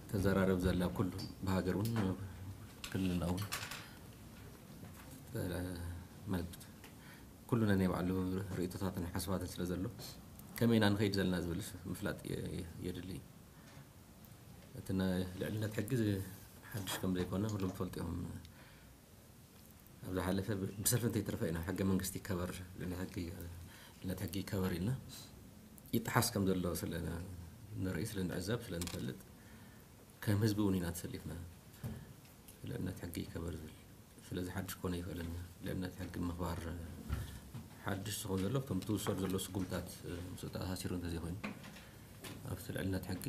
ተዘራረብ ዘላ ኩሉ ብሃገር እውን ክልልና እውን ማለት ኩሉ ናይ ባዕሉ ርእይቶታትን ሓሳባትን ስለ ዘሎ ከመይ ኢና ንኸይድ ዘለና ዝብል ምፍላጥ የድሊ። እቲ ልዕልነት ሕጊ ሓድሽ ከም ዘይኮነ ኩሎም ትፈልጡ እዮም። ኣብ ዝሓለፈ ብሰልፊ እንተይተረፈ ኢና ሕገ መንግስቲ ይከበር፣ ልዕልነት ሕጊ ይከበር ኢልና ይጠሓስ ከም ዘሎ ስለ ንርኢ፣ ስለ ንዕዘብ፣ ስለ ንፈልጥ ከም ህዝቢ እውን ኢና ተሰሊፍና ልዕልነት ሕጊ ይከበር ዝብል። ስለዚ ሓድሽ ክኾነ ይኽእልን ልዕልነት ሕጊ ምኽባር ሓድሽ ዝኾን ዘሎ እቶም ትውሰዱ ዘሎ ስጉምታት ምስ ተኣሳሲሩ እንተዘይኮይኑ ኣብቲ ልዕልነት ሕጊ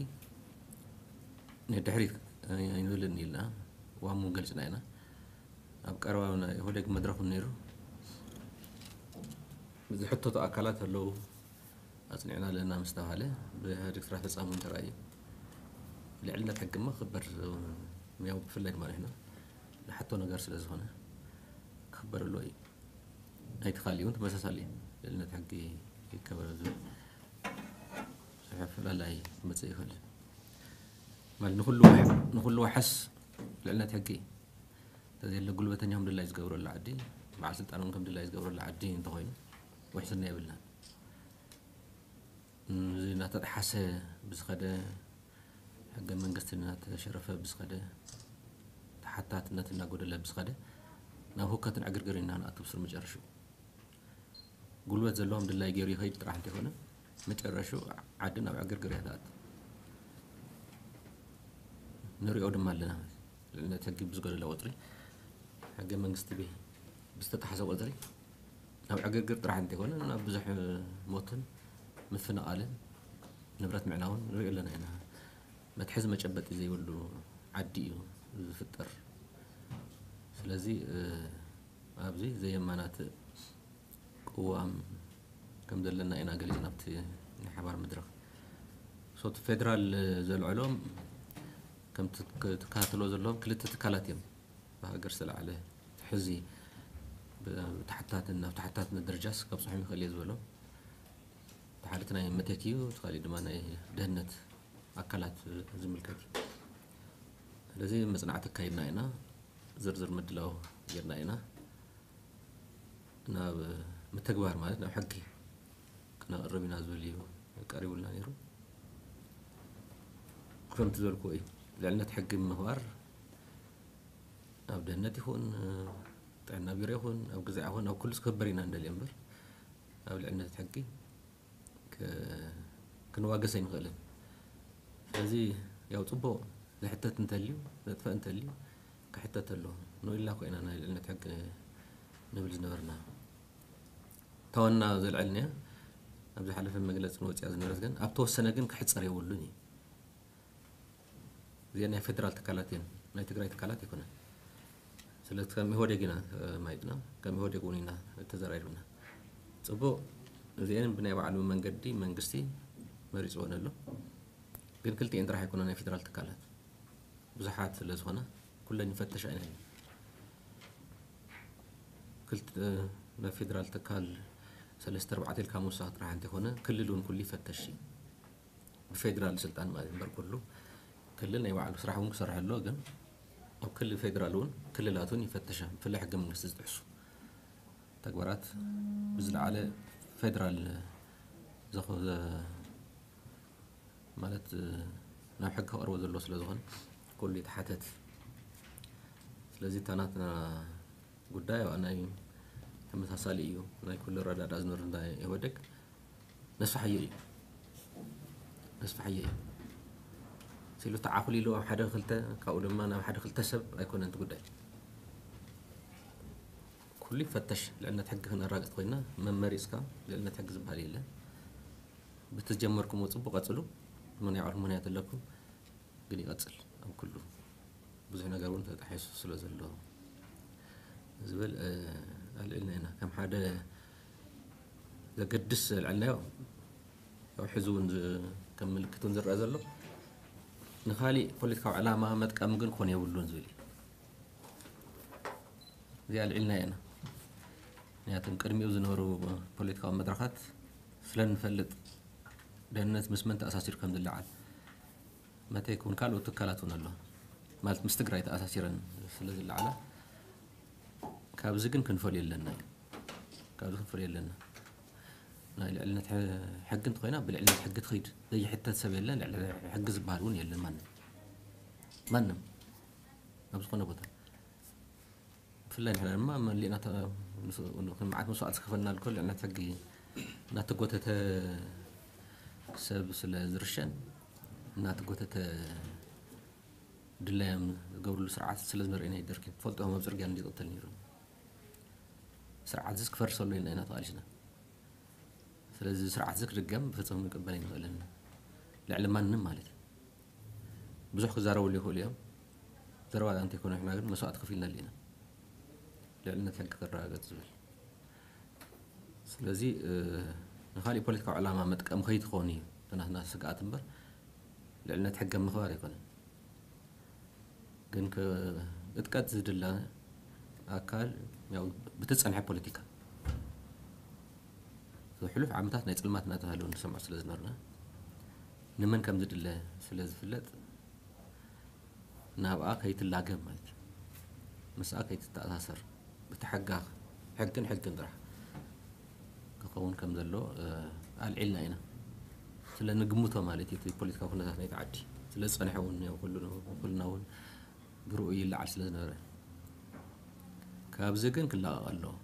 ንድሕሪት ኣይንብልን ኢልና ዋሙ ገልጽና ኢና። ኣብ ቀረባ ናይ ኢህወዴግ መድረኽ እውን ነይሩ። ዝሕተቱ ኣካላት ኣለዉ፣ ኣጽኒዕና ኣለና ምስ ተባሃለ ብኢህወዴግ ስራሕ ፈጻሚ እውን ተራእዩ። ልዕልነት ሕጊ እሞ ክኽበር ያው ብፍላይ ድማ ንሕና ንሓቶ ነገር ስለ ዝኾነ ክኽበር ኣለዎ እዩ። ናይቲ ካሊእ እውን ተመሳሳሊ እዩ። ልዕልነት ሕጊ ይከበር ዝብል ብዙሕ ኣፈላላይ ክመጽእ ይኽእል ማለት ንኹሉ ንኹሉ ዋሕስ ልዕልነት ሕጊ እንተዘየለ ጉልበተኛ ከም ድላይ ዝገብረሉ ዓዲ በዓል ስልጣን እውን ከም ድላይ ዝገብረሉ ዓዲ እንተኾይኑ ውሕስና የብልናን። እዚ እናተጠሓሰ ብዝኸደ ሕገ መንግስቲ እናተሸረፈ ብዝኸደ ተሓታትነት እናጎደለ ብዝኸደ ናብ ሁከትን ዕግርግር ኢና ንኣቱ ብስር መጨረሽኡ ጉልበት ዘለዎም ድላይ ገይሩ ይኸይድ ጥራሕ እንተይኮነ መጨረሽኡ ዓዲ ናብ ዕግርግር እያ ትኣቱ። ንሪኦ ድማ ኣለና። ልዕልነት ሕጊ ብዝጎደለ ቁፅሪ ሕገ መንግስቲ ብዝተጣሓሰ ቁፅሪ ናብ ዕግርግር ጥራሕ እንተይኮነ ናብ ብዙሕ ሞትን ምፍንቓልን ንብረት ምዕናውን ንሪኦ ኣለና ኢና። መትሐዚ መጨበጢ ዘይብሉ ዓዲ እዩ ዝፍጠር። ስለዚ ኣብዚ ዘየማናት ቅዋም ከም ዘለና ኢና ገሊፅና ኣብቲ ናይ ሓባር መድረኽ። ሶቲ ፌደራል ዘልዕሎም ከም ትከታተሎ ዘለዎም ክልተ ትካላት እዮም ብሃገር ዝተላዕለ ሕዚ ብታሕታትን ናብ ታሕታትነት ደረጃስ ከብፅሖም ይኽእል እየ ዝበሎም ተሓደቲ ናይ መቴክ እዩ። እቲ ካሊእ ድማ ናይ ደህንነት ኣካላት ዝምልከት እዩ። ስለዚ መፅናዕቲ ኣካይድና ኢና፣ ዝርዝር ምድላው ጌርና ኢና። ናብ ምትግባር ማለት ናብ ሕጊ ክነቕርብ ኢና ዝብል እዩ ቀሪቡልና ነይሩ። ከምቲ ዝበልኩዎ እዩ ልዕልነት ሕጊ ምኽባር ኣብ ደህንነት ይኹን ጥዕና ቢሮ ይኹን ኣብ ግዛዕ ይኹን ኣብ ኩሉ ክኽበር ኢና ንደልዮ እምበር ኣብ ልዕልነት ሕጊ ክንዋገስ ኣይንኽእልን። ስለዚ ያው ፅቡቕ ዝሕተት እንተልዩ ዘጥፈእ እንተልዩ ክሕተት ኣለዎ። ንኡ ኢልና ኮይና ናይ ልዕልነት ሕጊ ንብል ዝነበርና ተወና ዘልዐልንያ ኣብ ዝሓለፈ መግለፂ ንወፅያ ዝነበረት ግን ኣብ ተወሰነ ግን ክሕፀር የብሉን እዩ። እዚኣ ናይ ፌደራል ትካላት እየን፣ ናይ ትግራይ ትካላት ኣይኮነን። ስለዚ ከም ኢህወዴግ ኢና ማይጥና፣ ከም ኢህወዴግ እውን ኢና ተዘራሪብና። ፅቡቕ፣ እዚአን ብናይ ባዕሉ መንገዲ መንግስቲ መሪፅወን ኣሎ። ግን ክልቲኤን ጥራሕ ኣይኮነ ናይ ፌደራል ትካላት ብዙሓት ስለ ዝኾነ ኩለን ይፈተሻ ኢና። ክልተ ናይ ፌደራል ትካል ሰለስተ ኣርባዕተ ኢልካ ምውሳኽ ጥራሕ እንተይኮነ ክልል እውን ኩሉ ይፈተሽ እዩ። ብፌደራል ስልጣን ማለት እምበር ኩሉ ክልል ናይ ባዕሉ ስራሕ እውን ክሰርሕ ኣሎ። ግን ኣብ ክልል ፌደራል እውን ክልላት እውን ይፈተሻ ብፍላይ ሕገ መንግስቲ ዝጥሕሱ ተግባራት ብዝለዓለ ፌደራል ዘኸ ማለት ናብ ሕጊ ክቐርቦ ዘለዎ ስለ ዝኾነ ኩሉ ይተሓተት። ስለዚ እታ ናትና ጉዳይ ናይ ተመሳሳሊ እዩ። ናይ ኩሉ ረዳዳ ዝነሩ ናይ ኢህወደግ ነስፋሓዮ እዩ ነስፋሓዮ እዩ ሲሉ ተዓኹል ኢሉ ኣብ ሓደ ክልተ ካብኡ ድማ ናብ ሓደ ክልተ ሰብ ኣይኮነን እቲ ጉዳይ። ኩሉ ይፈተሽ። ልዕልነት ሕጊ ክነራግፅ ኮይና መመሪፅካ ልዕልነት ሕጊ ዝበሃል የለን። ብቲ ዝጀመርኩምዎ ፅቡቅ ቀፅሉ። ምንያዕር ምክንያት ኣለኩም ግን ይቐፅል ኣብ ኩሉ ብዙሕ ነገር እውን ተጣሒሱ ስለ ዘሎ ዝብል ኣልዒልና ኢና ከም ሓደ ዘገድስ ኣልዕልናዮ። ያው ሕዚ እውን ከም ምልክት እውን ዝረአ ዘሎ ንካሊእ ፖለቲካዊ ዕላማ መጥቀሚ ግን ክኾን የብሉን ዝብል እዩ። እዚኣ ኣልዒልና ኢና። ምክንያቱም ቅድሚኡ ዝነበሩ ፖለቲካዊ መድረኻት ስለ ንፈልጥ ደህንነት ምስ መን ተኣሳሲሩ ከም ዝለዓል መተይ ክውን ካልኦት ትካላት እውን ኣሎ ማለት ምስ ትግራይ ተኣሳሲረን ስለ ዝለዓላ ካብዚ ግን ክንፈልዮ ኣለና እዩ። ካብዚ ክንፈልዮ ኣለና። ናይ ልዕልነት ሕጊ እንተኮይና ብልዕልነት ሕጊ ትኸይድ ዘይሕተት ሰብ የለን። ልዕሊ ሕጊ ዝበሃል እውን የለን። ማንም ማንም ኣብ ዝኾነ ቦታ ብፍላይ ንሕና ድማ መሊእና መዓት መስዋዕት ዝከፈልና ልኮ ልዕልነት ሕጊ እናተጎተተ ሰብ ስለ ዝርሸን እናተጎተተ ድላዮም ዝገብርሉ ስርዓት ስለ ዝመርአና ደርኪ ትፈልጦ ኣብ ፅርግያ እንዲቕተል ነይሩ። ስርዓት ዝስ ክፈርሰሉ ኢና ኢና ተቓሊስና። ስለዚ ስርዓት እዚ ክድገም ብፍፁም ንቅበል ኣይንኽእልን። ልዕሊ ማንም ማለት ብዙሕ ክዛረብሉ ይኽእሉ እዮም። ዘረባ እንተይኮነ ንሕና ግን መስዋዕት ከፊልና ኣለና። ልዕልነት ሕጊ ክረጋገፅ ዝብል ስለዚ ንካሊእ ፖለቲካዊ ዕላማ መጥቀም ከይትኾኑ እዩ ናትና ስግኣት እምበር ልዕልነት ሕገ ምኽባር ኣይኮነን። ግን እጥቀት ዝድለ ኣካል ብትፀንሐ ፖለቲካ ሕሉፍ ዓመታት ናይ ፅልማት እናተባሃለ ንሰምዖ ስለ ዝነበርና ንመን ከም ዝድለ ስለ ዝፍለጥ ናብኣ ከይትላገብ ማለት እዩ። ምስኣ ከይትተኣሳሰር ብቲ ሕጋ ሕግን ሕግን ጥራሕ ክኸውን ከም ዘሎ ኣልዒልና ኢና። ስለ ንግምቶ ማለት እዩ። እቲ ፖለቲካዊ ኩነታት ናይቲ ዓዲ ስለ ዝፀንሐ እውን ኩልና እውን ብርኡ ይለዓል ስለ ዝነበረ ካብዚ ግን ክላቐቕ ኣለዎ።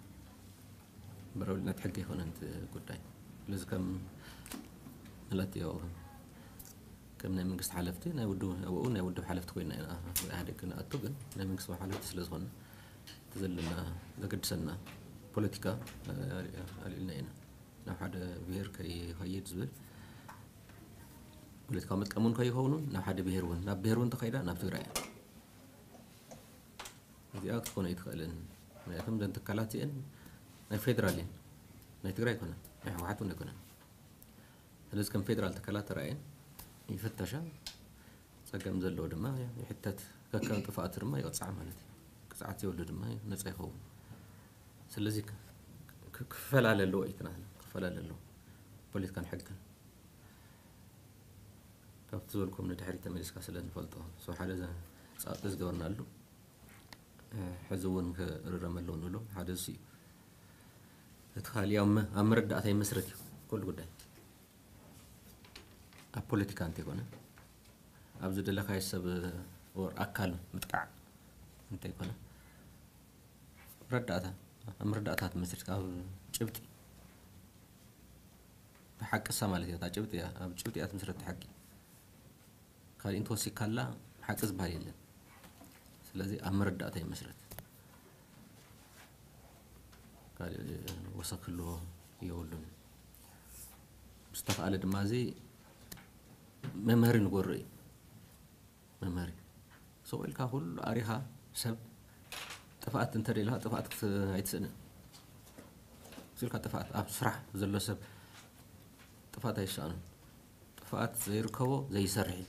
በረብልነት ሕጊ ኣይኮነን እቲ ጉዳይ። ስለዚ ከም ማለት ዮ ከም ናይ መንግስቲ ሓለፍቲ ናይ ውድብ ኣብኡ ናይ ውድብ ሓለፍቲ ኮይና ኢና ኢህኣዴግ ክንኣቱ ግን ናይ መንግስቲ ሓለፍቲ ስለ ዝኾነ እቲ ዘለና ዘገድሰና ፖለቲካ ኣልዕልና ኢና ናብ ሓደ ብሄር ከይኸይድ ዝብል ፖለቲካዊ መጥቀሙን ከይኸውን ናብ ሓደ ብሄር እውን ናብ ብሄር እውን ተኸይዳ ናብ ትግራይ እያ። እዚኣ ክትኮነ ኣይትኽእልን። ምክንያቱም ዘን ትካላት እዚአን ናይ ፌደራል እየን። ናይ ትግራይ ኣይኮነን፣ ናይ ህወሓት እውን ኣይኮነን። ስለዚ ከም ፌደራል ትካላት ተራእየን ይፍተሻ፣ ፀገም ዘለዎ ድማ ይሕተት፣ ከከም ጥፍኣቱ ድማ ይቕፃዕ ማለት እዩ። ቅፅዓት ዘይብሉ ድማ ነፃ ይኸውን። ስለዚ ክፈላለ ኣለዎ እዩ ትናትና፣ ክፈላለ ኣለዎ ፖለቲካን ሕግን። ካብቲ ዝበልኩም ንድሕሪት ተመሊስካ ስለ ንፈልጦ ሓደ ፃብጢ ዝገበርናሉ ሕዚ እውን ክርረም ኣለዎ ንብሎ ሓደ እሱ እዩ። እቲ ካሊእ ኣብ መረዳእታ ይመስረት እዩ ኩሉ ጉዳይ ኣብ ፖለቲካ እንተይኮነ ኣብዚ ደለካዮ ሰብ ወር ኣካል ምጥቃዕ እንተይኮነ ረዳእታ ኣብ መረዳእታ ትመስረት ኣብ ጭብጢ ብሓቅሳ ማለት እያ። እታ ጭብጢ እያ ኣብ ጭብጢ እያ ትመስረት ሓቂ ካልእ እንተወሲካላ ሓቂ ዝበሃል የለን። ስለዚ ኣብ መረዳእታ ይመስረት ካልእ ወሰክ ክልዎ የብሉን። ዝተኻኣለ ድማ እዚ መምሃሪ ንጎሮ እዩ። መምሃሪ ስቕ ኢልካ ኩሉ ኣሪኻ ሰብ ጥፍኣት እንተደልኻ ጥፍኣት ኣይትስእንን። ስልካ ጥፍኣት ኣብ ስራሕ ዘሎ ሰብ ጥፍኣት ኣይሰኣኑን። ጥፍኣት ዘይርከቦ ዘይሰርሕ እዩ።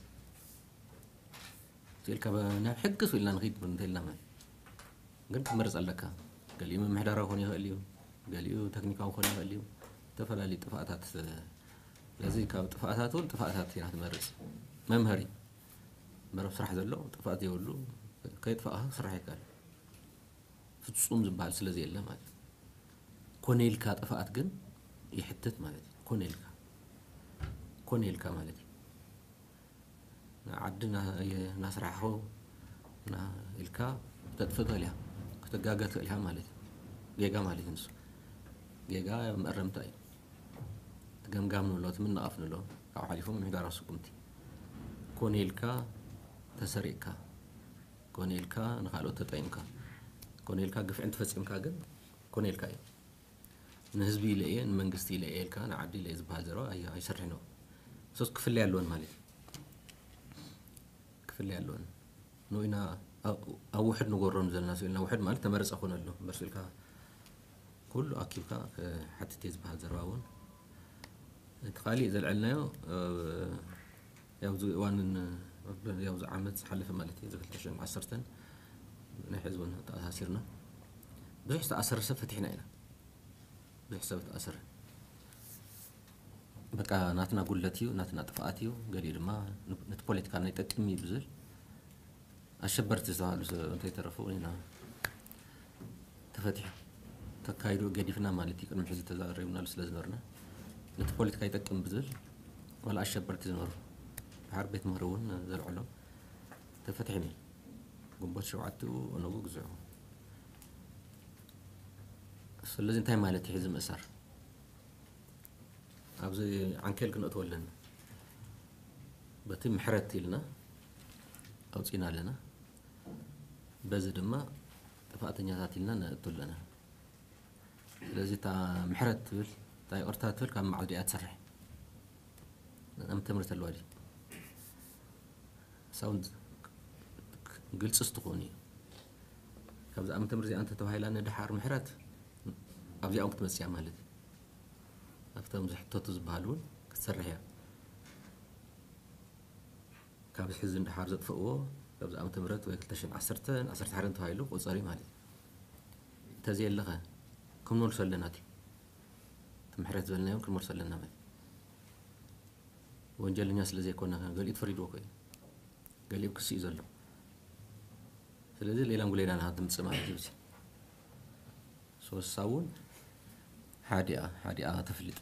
ስልካ ናብ ሕጊ ስኢልና ንኽይድ እንተልና ማለት ግን ትመርፅ ኣለካ። ገሊኡ ምምሕዳራዊ ክኾን ይኽእል እዩ፣ ገሊኡ ተክኒካዊ ክኾን ይኽእል እዩ። ዝተፈላለዩ ጥፍኣታት ስለዚ ካብ ጥፍኣታት እውን ጥፍኣታት ኢና ትመርፅ። መምሃሪ መረብ ስራሕ ዘሎ ጥፍኣት የብሉ። ከይጥፋእካ ክስራሕ ይከኣል። ፍፁም ዝበሃል ስለ ዘየለ ማለት እዩ። ኮነ ኢልካ ጥፍኣት ግን ይሕትት ማለት እዩ። ኮነ ኢልካ ኮነ ኢልካ ማለት እዩ። ዓዲ እናስራሕኹ ኢልካ ክተጥፍእ ትኽእል ኢኻ፣ ክትጋገ ትኽእል ኢኻ ማለት እዩ። ጌጋ ማለት እዩ ንሱ። ጌጋ መእረምታ እዩ። እቲ ገምጋም ንብሎ፣ እቲ ምንቓፍ ንብሎ፣ ካብኡ ሓሊፉ ምምሕዳራዊ ስጉምቲ። ኮነ ኢልካ ተሰሪቕካ፣ ኮነ ኢልካ ንኻልኦት ተጠይምካ፣ ኮነ ኢልካ ግፍዒ እንተፈፂምካ ግን ኮነ ኢልካ እዩ። ንህዝቢ ኢለ እየ ንመንግስቲ ኢለ እየ ኢልካ ንዓዲ ኢለ እየ ዝበሃል ዘረባ ኣይሰርሕን እዮም። ሶስ ክፍለያ ኣለወን ማለት እዩ። ክፍለያ ኣለወን ንኢና ኣብ ውሕድ ንጎሮም ዘለና ስኢልና ውሕድ ማለት ተመረፀ ኮነ ኣሎ እምበር ስኢልካ ኩሉ ኣኪብካ ሓትት እየ ዝበሃል ዘረባ እውን እቲ ካሊእ ዘልዐልናዮ ያው እዚ እዋን ያው እዚ ዓመት ዝሓለፈ ማለት እዩ እዚ ክልተ ሽሕን ዓሰርተን ናይ ሕዚ እውን ተኣሳሲርና ብዙሕ ዝተኣሰረ ሰብ ፈቲሕና ኢና። ብዙሕ ሰብ ተኣሰረ። በቃ ናትና ጉለት እዩ፣ ናትና ጥፍኣት እዩ፣ ገሊኡ ድማ ነቲ ፖለቲካና ይጠቅም እዩ ብዝብል ኣሸበርቲ ዝተባህሉ ሰብ እንተይተረፉ ኢና ተፈቲሑ። ተካይዱ ገዲፍና ማለት እዩ። ቅድሚ ሕዚ ተዛሪብናሉ ስለ ዝነበርና ነቲ ፖለቲካ ይጠቅም ብዝብል ዋላ ኣሸበርቲ ዝነበሩ ድሓር ቤት ምህሪ እውን ዘልዕሎም ተፈቲሖም እዮም። ግንቦት ሸውዓተ ኦነጉ ግዝዑ። ስለዚ እንታይ ማለት እዩ ሕዚ ምእሳር? ኣብዚ ዓንኬል ክነእትዎ ኣለና። በቲ ምሕረት ኢልና ኣውፂና ኣለና። በዚ ድማ ጥፋእተኛታት ኢልና ነእቱ ኣለና። ስለዚ እታ ምሕረት ትብል፣ እታ ይቕርታ ትብል ካብ መዓዝ ድያ ትሰርሕ? ዓመተ ምህረት ኣለዋ ድዩ? ሳውንድ ግልፂ ስትኾኑ እዩ። ካብዚ ዓመተ ምህረት እዚኣ እንተተባሂላ ንድሓር ምሕረት ኣብዚኣ እውን ክትመፅእ እያ ማለት እዩ። ኣብቶም ዝሕተቱ ዝበሃሉ እውን ክትሰርሕ እያ። ካብ ሕዚ ንድሓር ዘጥፍእዎ ካብዚ ዓመተ ምህረት ወይ ክልተ ሽሕን ዓሰርተን ዓሰርተ ሓደን ተባሂሉ ክቑፀር እዩ ማለት እዩ። እንተዘየለኸ ክንመልሶ ኣለና። እቲ እቲ ምሕረት ዝበልናዮም ክንመልሶ ኣለና ማለት እዩ። ወንጀለኛ ስለ ዘይኮና ገሊኡ ተፈሪድዎ እኮ እዩ። ገሊኡ ክሲ እዩ ዘሎ። ስለዚ ሌላም ጉሌላ ናት ድምፂ ማለት እዩ። ሶሳ እውን ሓዲኣ ሓዲኣ ተፍልጥ።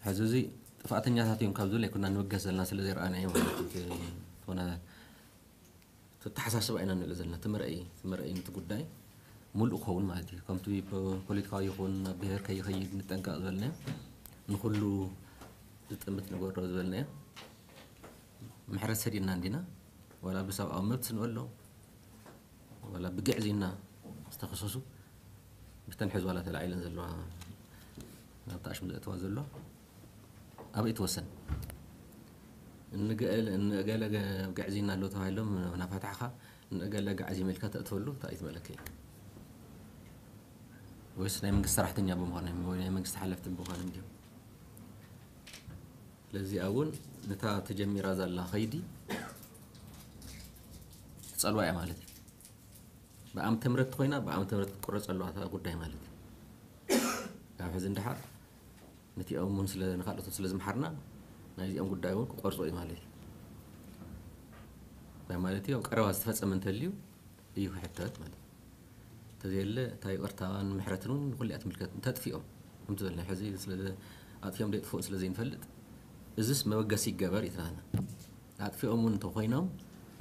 ሕዚ እዚ ጥፋእተኛታት እዮም ካብ ዝብል ኣይኮና ንብገስ ዘለና ስለ ዘይረኣናዮ ማለት እዩ። ዝኾነ ተተሓሳስባ ኢና ንርኢ ዘለና። እቲ መርኣይ እቲ መርኣይ ነቲ ጉዳይ ሙሉእ ክኸውን ማለት እዩ። ከምቲ ፖ- ፖለቲካዊ ይኹን ናብ ብሄር ከይኸይድ ንጠንቀቕ ዝበልናዮ፣ ንኹሉ ዝጥምት ንገብሮ ዝበልናዮ፣ ምሕረት ሰዲድና እንዲና ዋላ ብሰብኣዊ መብት ንበሎ ዋላ ብግዕዝይና ዝተኸሰሱ ብተን ሕዚ ዋላ ተላዒለን ዘለዋ ናብቲ ኣሽሙ ዘእተዋ ዘሎ ኣበይ ትወሰን? እንገለ እንገለ ግዕዝይና ኣሎ ተባሂሎም ናፋታሕኻ እንገለ ግዕዝይ መልካ ተእትወሉ እንታይ እዩ ትመለከ? ወይስ ናይ መንግስቲ ሰራሕተኛ ብምዃኖም ወይ ናይ መንግስቲ ሓለፍቲ ብምዃኖም ድዮም? ስለዚኣ እውን ነታ ተጀሚራ ዘላ ኸይዲ ትጸልዋ እያ ማለት እዩ። ብኣምተ ምረት ኮይና ብኣምተ ምረት ክትቁረጽ ኣለዋ እታ ጉዳይ ማለት እዩ። ካብ ሕዚ እንድሓር ነቲኦም እውን ስለ ንካልኦቶም ስለ ዝምሓርና ናይዚኦም ጉዳይ እውን ክቆርጾ እዩ ማለት እዩ። እንታይ ማለት እዩ? ኣብ ቀረባ ዝተፈጸመ እንተልዩ እዩ ክሕተት ማለት እዩ። እንተዘየለ እታ ይቕርታን ምሕረትን እውን ንኩሉ እያ ትምልከት። እንተጥፊኦም ከምቲ ዝበልና ሕዚ ስለ ኣጥፊኦም ደይጥፍኡ ስለ ዘይንፈልጥ እዚስ መበገሲ ይገበር ይትናና ኣጥፊኦም እውን እንተኮይኖም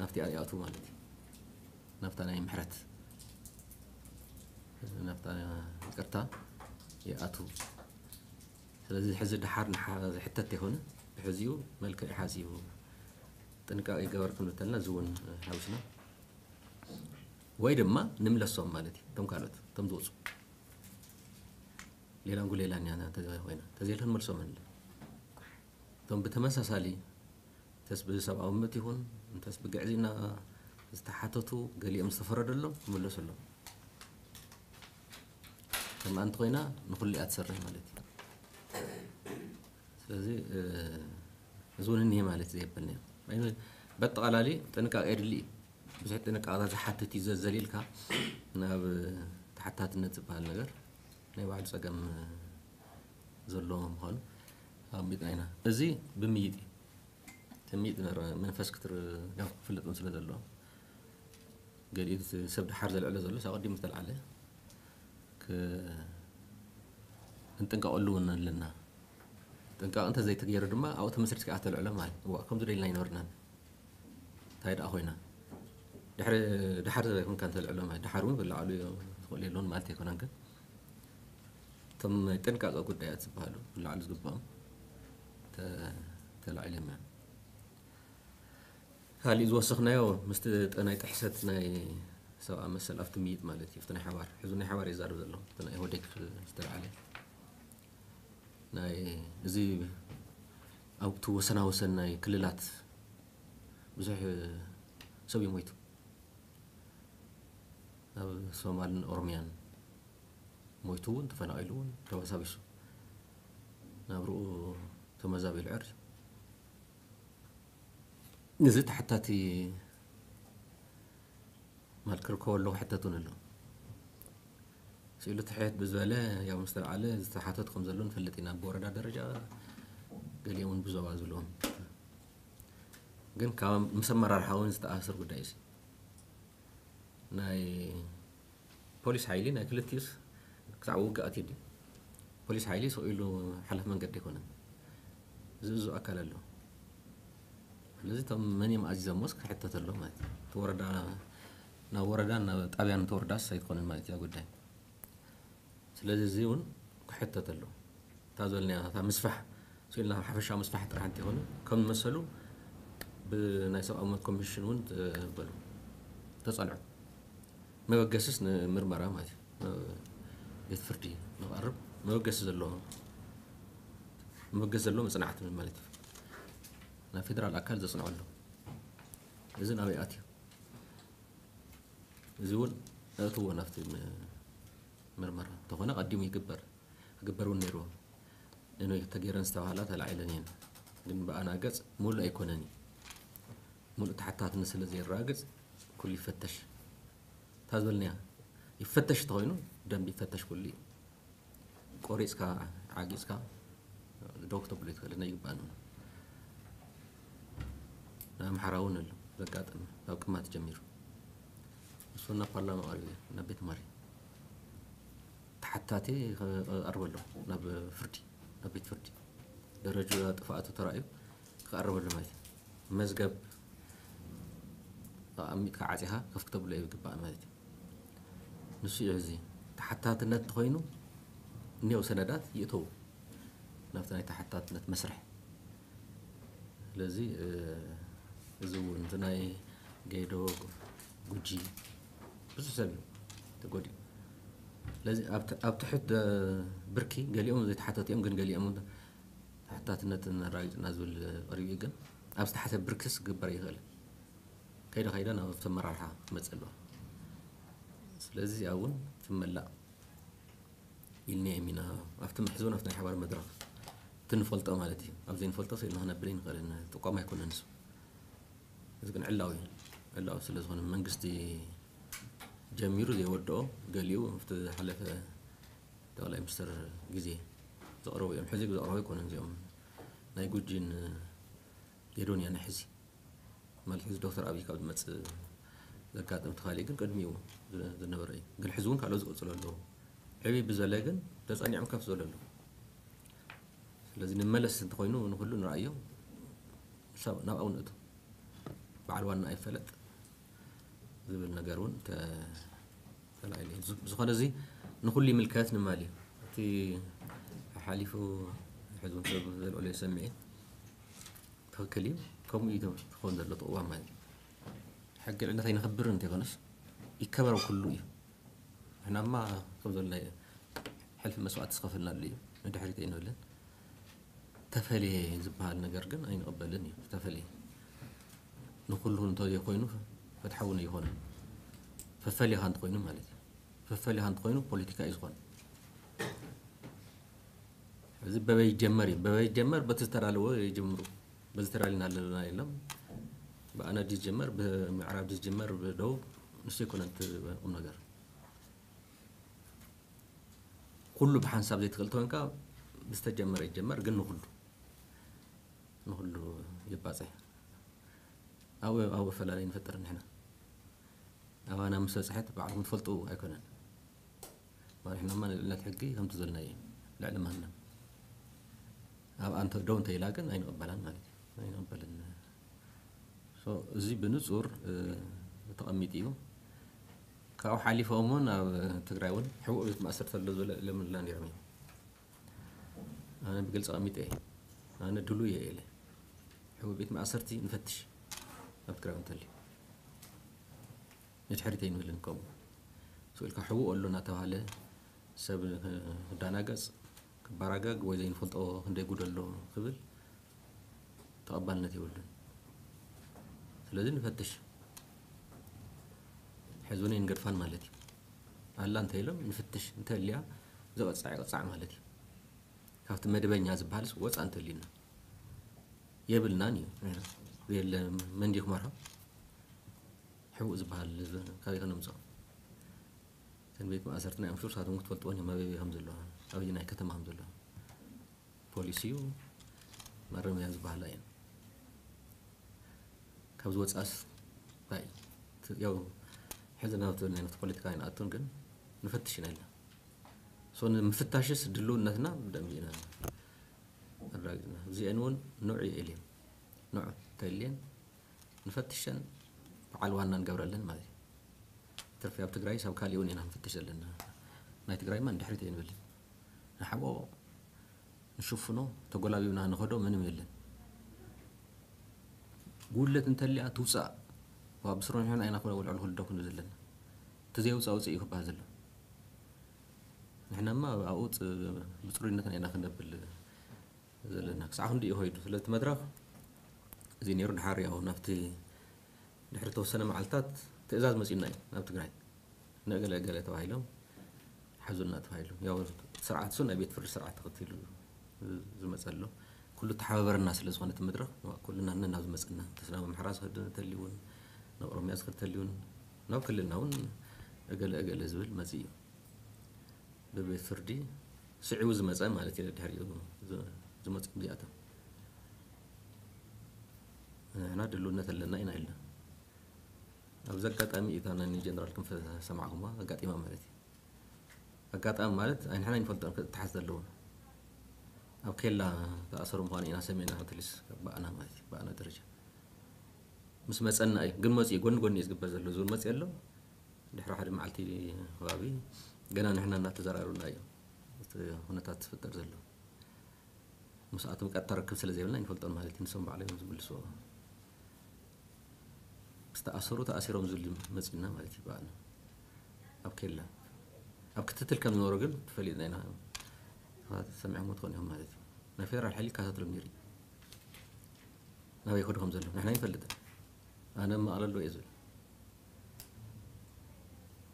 ናብቲ ይኣትዉ ማለት እዩ። ናብታ ናይ ምሕረት ናብታ ይቅርታ ይኣትዉ። ስለዚ ሕዚ ድሓር ዝሕተት ይኮነ ብሕዚኡ መልክዕ ሓዚቡ ጥንቃቄ ይገበር ክንብል ተለና እዚ እውን ሓዊስና ወይ ድማ ንምለሶም ማለት እዩ። እቶም ካልኦት እቶም ዝወፁ ሌላ ጉሌላ እኒያ ኮይና ተዘይልካ ንመልሶም ንለ እቶም ብተመሳሳሊ እንተስ ብሰብኣዊ መብት ይኹን እንተስ ብግዕዝና ዝተሓተቱ ገሊኦም ዝተፈረደሎም ክምለሱ ኣለዎም። ከምኣ እንተኮይና ንኩሉ እያ ትሰርሕ ማለት እዩ። ስለዚ እዚ እውን እኒሄ ማለት ዘየብልና እዩ። በጠቓላሊ ጥንቃቄ የድሊ እዩ። ብዙሕ ጥንቃቄታት ዝሓትት እዩ ዘዘሊልካ ናብ ተሓታትነት ዝበሃል ነገር ናይ ባዕሉ ፀገም ዘለዎ ምዃኑ ኣሚጥና ኢና። እዚ ብምይጥ እዩ። ትምይጥ መንፈስ ክትር ክፍለጥ ስለ ዘለዎ ገሊኡ ሰብ ድሓር ዘልዕሎ ዘሎ ኣቐዲሙ ዝተልዓለ ክንጥንቀቐሉ እውን ኣለና። ጥንቃቕ እንተ ዘይተገይሩ ድማ ኣብኡ ተመስሪት ከዓ ተልዕሎ ማለት እዋ ከምዚ ደልና ኣይነበርናን። እንታይ ደኣ ኮይና ድሕሪ ድሓር ዘበይኮንካ እንተልዕሎ ማለት ድሓር እውን ብላዕሉ ዝኽእል የለውን ማለት ኣይኮነን ግን እቶም ናይ ጥንቃቐ ጉዳያት ዝበሃሉ ክለዓሉ ዝግባኦም ተላዒሎም እዮም። ካሊእ ዝወሰኽናዮ ምስቲ ናይ ጥሕሰት ናይ ሰብኣ መሰል ኣብቲ ምይጥ ማለት እዩ። ናይ ሓባር ሕዚ ናይ ሓባር ይዛረብ ዘሎ ናይ ኢህወዴግ ዝተለዓለ ናይ እዚ ኣብቲ ወሰና ወሰን ናይ ክልላት ብዙሕ ሰብ እዩ ሞይቱ። ኣብ ሶማልን ኦሮሚያን ሞይቱ እውን ተፈናቒሉ እውን ተባሳቢሱ ናብርኡ ተመዛቢሉ ዕር እዚ ተሓታቲ ማለት ክርከቦ ኣለዎ ሕተት እውን ኣሎ። ኢሉ ትሕት ብዝበለ ያው ምስ ተለዓለ ዝተሓተት ከም ዘሎ ንፈልጥ ኢና። ብወረዳ ደረጃ ገሊኦም እውን ብዞባ ዝብልዎም ግን ካብ ምስ ኣመራርሓ እውን ዝተኣሳሰር ጉዳይ እዩ። ናይ ፖሊስ ሓይሊ ናይ ክልቲኡስ ክሳዕ ውግእ ኣትዩ ድዩ? ፖሊስ ሓይሊ ስቕ ኢሉ ሓለፍ መንገዲ ኣይኮነን። ዝእዙ ኣካል ኣሎ። ስለዚ እቶም መን እዮም ኣዚዞሞስ ክሕተት ኣሎ ማለት እዩ። እቲ ወረዳ ናብ ወረዳን ናብ ጣብያን ተወርዳስ ኣይትኾንን ማለት እያ ጉዳይ። ስለዚ እዚ እውን ክሕተት ኣሎ። እታ ዝበልናያ እታ ምስፋሕ ስኢልና ሓፈሻዊ ምስፋሕ ጥራሕ እንተይኮነ ከም መሰሉ ብናይ ሰብኣዊ መብት ኮሚሽን እውን በሉ ተፀንዑ። መበገስስ ንምርመራ ማለት እዩ። ናብ ቤት ፍርዲ ንቐርብ መበገሲ ዘለዎ መበገሲ ዘለዎ መፅናዕቲ ማለት እዩ። ናብ ፌደራል ኣካል ዘፅንዖ ኣሎ። እዚ ናበይ ኣትዩ? እዚ እውን እእትዎ ናብቲ ም- ምርመራ እንተኾነ ቀዲሙ ይግበር ክግበር እውን ነይርዎ። እኖይ ተገይረን ዝተባህላ ተላዒለን እየን። ግን ብኣና ገፅ ሙሉእ ኣይኮነን እዩ። ሙሉእ ተሓታትነት ስለ ዘየረጋግፅ ኩሉ ይፈተሽ። እታ ዝበልናያ ይፈተሽ እንተኾይኑ ደንብ ይፈተሽ ኩሉ እዩ። ቆሪፅካ ዓጊፅካ ዶክ ተብሎ ይትኽእል እና ይግባእ ንብሎ። ንኣምሓራ እውን ኣሎ ዘጋጠመ ካብ ቅማት ጀሚሩ እሱ ናብ ፓርላማ ቀሪቡ እዩ ናብ ቤት ማሪ ተሓታቲ ክቐርበሎ ናብ ፍርዲ ናብ ቤት ፍርዲ ደረጃ ጥፍኣቱ ተራእዩ ክቐርበሉ ማለት እዩ። መዝገብ ኣቐሚጥካ ዓፂኻ ከፍተብሎ ይግባእ ማለት እዩ። ንሱ እዩ እዚ ተሓታትነት እንተኾይኑ እኒአው ሰነዳት ይእተው ናብቲ ናይ ተሓታትነት መስርሕ። ስለዚ እዚ እውን እቲ ናይ ገይዶ ጉጂ ብዙሕ ሰብ እዩ ተጎዲኡ። ስለዚ ኣብ ትሕት ብርኪ ገሊኦም ዘይተሓተቱ እዮም፣ ግን ገሊኦም ተሓታትነት ኣረጋጊፅና ዝብል ቀሪቡ እዩ። ግን ኣብ ዝተሓተ ብርክስ ክግበር ይኽእል ከይደ ከይደ ናብ ተመራርሓ ክመፅእ ኣለዋ። ስለዚ እዚኣ እውን ትመላእ ኢልና ኢና ኣብቲ ምሕዝውን ኣብቲ ናይ ሓባር መድረኽ እቲ ንፈልጦ ማለት እዩ። ኣብ ዘይንፈልጦ ስኢልና ክነብል ኣይንኽእልን። ጥቋም ኣይኮነን እሱ። እዚ ግን ዕላዊ እዩ። ዕላዊ ስለ ዝኾነ መንግስቲ ጀሚሩ ዘይወድኦ ገሊኡ ኣብቲ ዝሓለፈ ጠቕላይ ሚኒስትር ግዜ ዘቕረቡ እዮም። ሕዚ ዘቕረቡ ኣይኮነን እዚኦም ናይ ጉጂን ጌዶን እያ ናይ ሕዚ ማለት ሕዚ ዶክተር ኣብይ ካብ ዝመፅእ ዘጋጥም ተኻሊ ግን ቅድሚኡ ዝነበረ እዩ። ግን ሕዚ እውን ካልኦት ዝቕፅሉ ኣለዉ። ዕብይ ብዘለ ግን ተፀኒዖም ከፍ ዝበሉ ኣለዉ። ስለዚ ንመለስ እንተኾይኑ ንኩሉ ንረኣዮ ናብኣው ንእቱ በዓል ዋና ኣይፈለጥ ዝብል ነገር እውን ተላዒሉ እዩ። ብዝኾነ እዚ ንኩሉ ይምልከት ንማል እዩ። እቲ ሓሊፉ ሕዚ እውን ሰብ ዘልዕሎ ይሰምዕ እዩ። ትኽክል እዩ። ከምኡ እዩ ክኸውን ዘለዎ እቲ ቅዋም ማለት እዩ። ሕጊ ልዕልነት ኣይነኽብርን እንተይኮነስ ይከበር ኩሉ እዩ። ንሕናማ ከም ዘለና ሕልፊ መስዋእቲ ዝኸፈልናሉ እዩ። ንድሕሪት ኣይንብልን። ተፈልየ ዝበሃል ነገር ግን ኣይንቕበልን እዩ። ተፈልየ ንኩሉ እንተዘይኮይኑ ፍትሓዊ ኣይኮነን። ፈፈሊኻ እንተኮይኑ ማለት እዩ። ፈፈሊኻ እንተኮይኑ ፖለቲካ እዩ ዝኾን። እዚ በበይ ይጀመር እዩ። በበይ ይጀመር በቲ ዝተዳለወ ይጀምሩ። በዚ ተዳሊና ኣለና የለም። ብኣና ድዩ ዝጀመር ብምዕራብ ድዩ ዝጀመር ብደቡብ ንሱ ኣይኮነን እቲ ቁም ነገር። ኩሉ ብሓንሳብ ዘይትኽእል ተኮንካ ብዝተጀመረ ይጀመር ግን ንኩሉ ንኩሉ ይባፅሕ። ኣብኡ ኣብኡ ኣፈላለይ ንፈጥር ንሕና ኣባና ምስ በፅሐት ባዕልኩም ትፈልጡ ኣይኮነን። ማለት ንሕናማ ንልዕልነት ሕጊ ከምቲ ዘልናዮ ልዕሊ ማንም ኣብ ኣንተ ደው እንተ ኢላ ግን ኣይንቕበላን ማለት እዩ። ኣይንቕበልን። So እዚ ብንጹር ተቐሚጡ እዩ። ካብኡ ሓሊፎም እውን ኣብ ትግራይ እውን ሕቡእ ቤት ማእሰርቲ ኣሎ ዝበለ ለምንላ ነይሮም እዮም። ኣነ ብግልፂ ኣቐሚጠ እየ። ኣነ ድሉ እየ ኢለ ሕቡእ ቤት ማእሰርቲ ንፈትሽ ኣብ ትግራይ እውን ተልዩ ንድሕሪት ኣይንብልን። ከምኡ ስኢልካ ሕቡእ ኣሎ እናተባህለ ሰብ ክዳናገፅ ክባራጋግ ወይ ዘይንፈልጦ ክንደይ ጉድ ኣሎ ክብል ተቐባልነት የብሉን። ስለዚ ንፈትሽ ሕዚ እውን ኣይንገድፋን ማለት እዩ። ኣላ እንተኢሎም ንፍትሽ እንተልያ ዘቐፃዕ ይቐፃዕ ማለት እዩ። ካብቲ መደበኛ ዝበሃልስ ወፃ እንተልዩና የብልናን እዩ። የለ መንዲ ክመርሖ ሕቡእ ዝበሃል ካበይ ከነምፅኦ? ቤት ማእሰርቲ ናይ ኣምሹር ሳቶም ክትፈልጥዎን እዮም ኣበይ ከም ዘለዋ ኣበይ ናይ ከተማ ከም ዘለዋ ፖሊሲ እዩ። ማረምያ ዝበሃላ እየን። ካብ ዝወፅኣስ እንታይ ያው ሕዚ ናብ ትብል ናይ ፖለቲካ ኣይንኣቱን ግን ንፈትሽ ኢና ኢልና። ሶ ንምፍታሽስ ድልውነትና ብደንብ ኢና ኣረጋጊፅና። እዚአን እውን ንዑ የእልየን ንዑ ተልየን ንፈትሸን በዓል ዋና ንገብረለን ማለት እዩ። ትርፊ ኣብ ትግራይ ሳብ ካሊእ እውን ኢና ንፈትሽ ዘለና። ናይ ትግራይማ ንድሕሪት ኣይንብልን። ንሓቦ ንሽፍኖ ተጎላቢብና ንኸዶ ምንም የለን። ጉድለት እንተልያ ትውፃእ። ዋ ብስሩ ንሕና ኢና ክወልዕሉ ክልዶ ክንብል ዘለና። እቲ ዘይውፃእ ውፅእ እዩ ክበሃል ዘሎ። ንሕናማ ኣብኡ ብፅሩይነትና ኢና ክነብል ዘለና ክሳዕ ክንዲ እዩ ኸይዱ። ስለዚ እቲ መድረኽ እዚ ነይሩ ድሓር ያው ናብቲ ድሕሪ ተወሰነ መዓልታት ትእዛዝ መፂኡና እዩ ናብ ትግራይ ንእገለ እገለ ተባሂሎም ሓዙና ተባሂሉ ያው ስርዓት እሱ ናይ ቤት ፍርዲ ስርዓት ተኸቲሉ ዝመፀ ኣሎ። ኩሉ ተሓባበረና ስለ ዝኾነ እቲ መድረኽ ኩልና ነና ዝመፀና ተስናም ኣምሓራ ዝኸድ ተልውን ናብ ኦሮሚያ ዝኸድ ተልውን ናብ ክልልና እውን እገለ እገለ ዝብል መፂ እዩ። ብቤት ፍርዲ ስዒቡ ዝመፀ ማለት እዩ። ድሕሪኡ ዝመፁ እዚኣቶም ንሕና ድልውነት ኣለና ኢና ኢልና ኣብዚ ኣጋጣሚ እታ ናይ ጀነራል ክንፈ ሰማዕኩማ ኣጋጢማ ማለት እዩ። ኣጋጣሚ ማለት ኣይንሕና ይንፈልጦን ክትሓዝ ዘለዎም ኣብ ኬላ ተኣሰሩ ምዃኑ ኢና ሰሚዕና ትሊስ ባእና ማለት እዩ ባእና ደረጃ ምስ መፀና እዩ ግን መፅኡ ጎኒ ጎኒ እዩ ዝግበር ዘሎ ዝብል መፅኡ ኣሎ። ድሕሪ ሓደ መዓልቲ ከባቢ ገና ንሕና እናተዘራረብና እዩ እቲ ኩነታት ዝፍጠር ዘሎ። ምስኣቶም ቀጥታ ርክብ ስለ ዘይብልና ይንፈልጦን ማለት እዩ ንሶም ባዕሎም እዮም ዝምልስዎ። ምስ ተኣሰሩ ተኣሲሮም ዝብል መፂና ማለት እዩ በዓልና ኣብ ኬላ ኣብ ክትትል ከም ዝነበሩ ግን ተፈሊጥና ኢና። ሰባት ሰሚዖምዎ ትኾኑ እዮም ማለት እዩ። ናይ ፌደራል ሓይሊ ይከታተሎም ነይሩ እዩ። ናበይ ይኸዱ ከም ዘለዉ ንሕና ይንፈልጥን። ኣነ መቐለ ኣለዉ እየ ዝብል።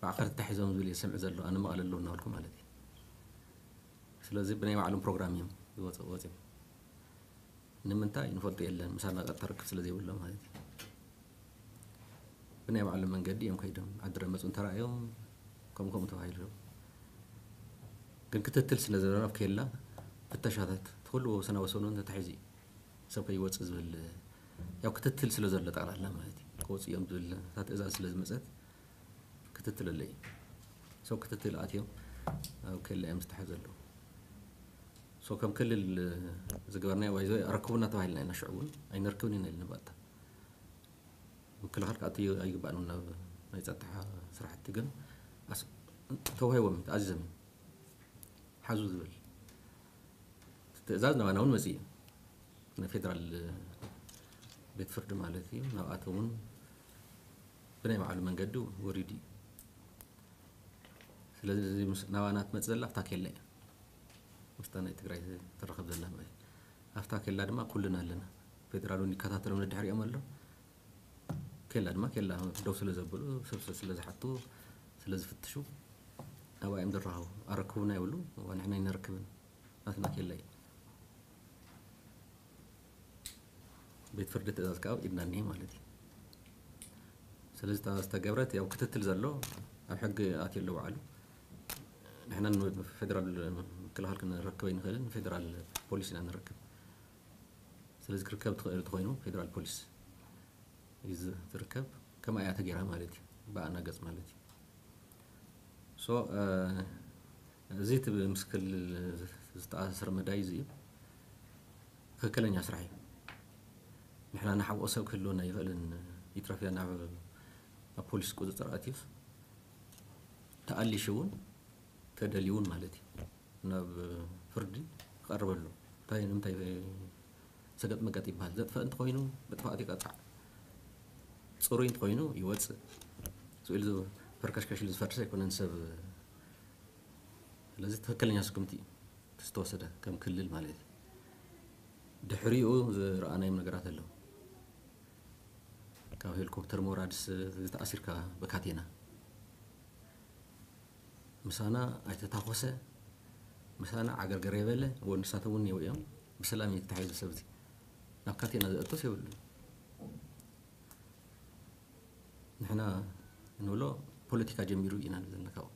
ባዕኸር ተታሒዞም ዝብል እየ ዝሰምዕ ዘሎ ኣነ መቐለ ኣለዉ እናበልኩ ማለት እዩ። ስለዚ ብናይ ባዕሎም ፕሮግራም እዮም ዝወፅኡ ወፂኦም። ንምንታይ ንፈልጦ የለን ምሳና ቀጥታ ርክብ ስለ ዘይብሎም ማለት እዩ። ብናይ ባዕሎም መንገዲ እዮም ከይዶም ዓዲ ረመፁ እንተረኣዮም ከም ከምኡ ተባሂሉ ግን ክትትል ስለ ዘለና ኣብ ኬላ ፍተሻታት እቲ ኩሉ ወሰና ወሰኑ ተታሒዙ እዩ። ሰብ ከይወፅእ ዝብል ያው ክትትል ስለ ዘሎ ጠቕላላ ማለት እዩ ክወፁ እዮም ዝብል እታ ትእዛዝ ስለ ዝመፀት ክትትል ኣሎ እዩ። ሰብ ክትትል ኣትዮም ኣብ ኬላ እዮም ዝተሓዘ ኣለዉ። ሶ ከም ክልል ዝገበርናዮ ባይዘ ኣረክቡና ተባሂልና ኢና ሽዑ እውን ኣይነርክብን ኢና ኢልና ባእታ ምክልኻል ክኣቱ ኣይግባእን እውን ናብ ናይ ፀጥታ ስራሕቲ ግን ተዋሂቦም ተኣዚዞም ሓዙ ዝብል ትእዛዝ ናባና እውን መፅእ እዩ። ናይ ፌደራል ቤት ፍርዲ ማለት እዩ ናብኣቶም እውን ብናይ ባዕሉ መንገዲ ወሪዱ እዩ። ስለዚ ናባና ትመፅእ ዘላ ኣብታ ኬላ እያ ምስታ ናይ ትግራይ ትረኸብ ዘላ ማለት ኣብታ ኬላ ድማ ኩልና ኣለና። ፌደራል እውን ይከታተሎም ንድሕሪኦም ኣሎ። ኬላ ድማ ኬላ ደው ስለ ዘብሉ ሰብ ስለ ዝሓቱ ስለ ዝፍትሹ ኣብኣ እዮም ዝረኸቡ። ኣረክቡና ይብሉ። ንሕና ኣይነርክብን ናትና ኬላ እዩ። ቤት ፍርዲ ትእዛዝ ከዓ ኢድና እኒሄ ማለት እዩ። ስለዚ እታ ዝተገብረት ያው ክትትል ዘሎ ኣብ ሕጊ ኣትዩ ኣሎ ባዕሉ። ንሕና ፌደራል ምክልኻል ክንረክብ ኣይንኽእልን ፌደራል ፖሊስ ኢና ንረክብ። ስለዚ ክርከብ ትኽእል ተኮይኑ ፌደራል ፖሊስ እዩ ዝርከብ። ከማ እያ ተገይራ ማለት እዩ ብኣና ገፅ ማለት እዩ። ሶ እዚ እቲ ምስ ክልል ዝተኣሳሰረ መዳይ እዚ እዩ ትክክለኛ ስራሕ እዩ። ንሕና ንሓብኦ ሰብ ክህልወና ይኽእልን ይትረፍያ ናብ ኣብ ፖሊስ ቁፅፅር ኣትዩስ ተኣሊሹ እውን ተደልዩ እውን ማለት እዩ ናብ ፍርዲ ክቐርበሉ እንታይ ንምንታይ ሰገጥ መገጥ ይበሃል ዘጥፈእ እንተኮይኑ ብጥፋኣት ይቀፃዕ ፅሩይ እንተኮይኑ ይወፅእ ስኢሉ ፈርከሽከሽ ኢሉ ዝፈርስ ኣይኮነን ሰብ ስለዚ ትክክለኛ ስጉምቲ እዩ ዝተወሰደ ከም ክልል ማለት እዩ ድሕሪኡ ዝረኣናዮም ነገራት ኣለዉ ካብ ሄሊኮፕተር ምውራድስ ዝተኣሲርካ ብካቴና ምሳና ኣይተታኮሰ ምሳና ዓገርገር የበለ ወንሳተ እውን የው እዮም ብሰላም እዩ ተታሒዙ ሰብ እዚ ናብ ካቴና ዘእቶስ የብሉ ንሕና ንብሎ ፖለቲካ ጀሚሩ ኢና ዘለና ካብኡ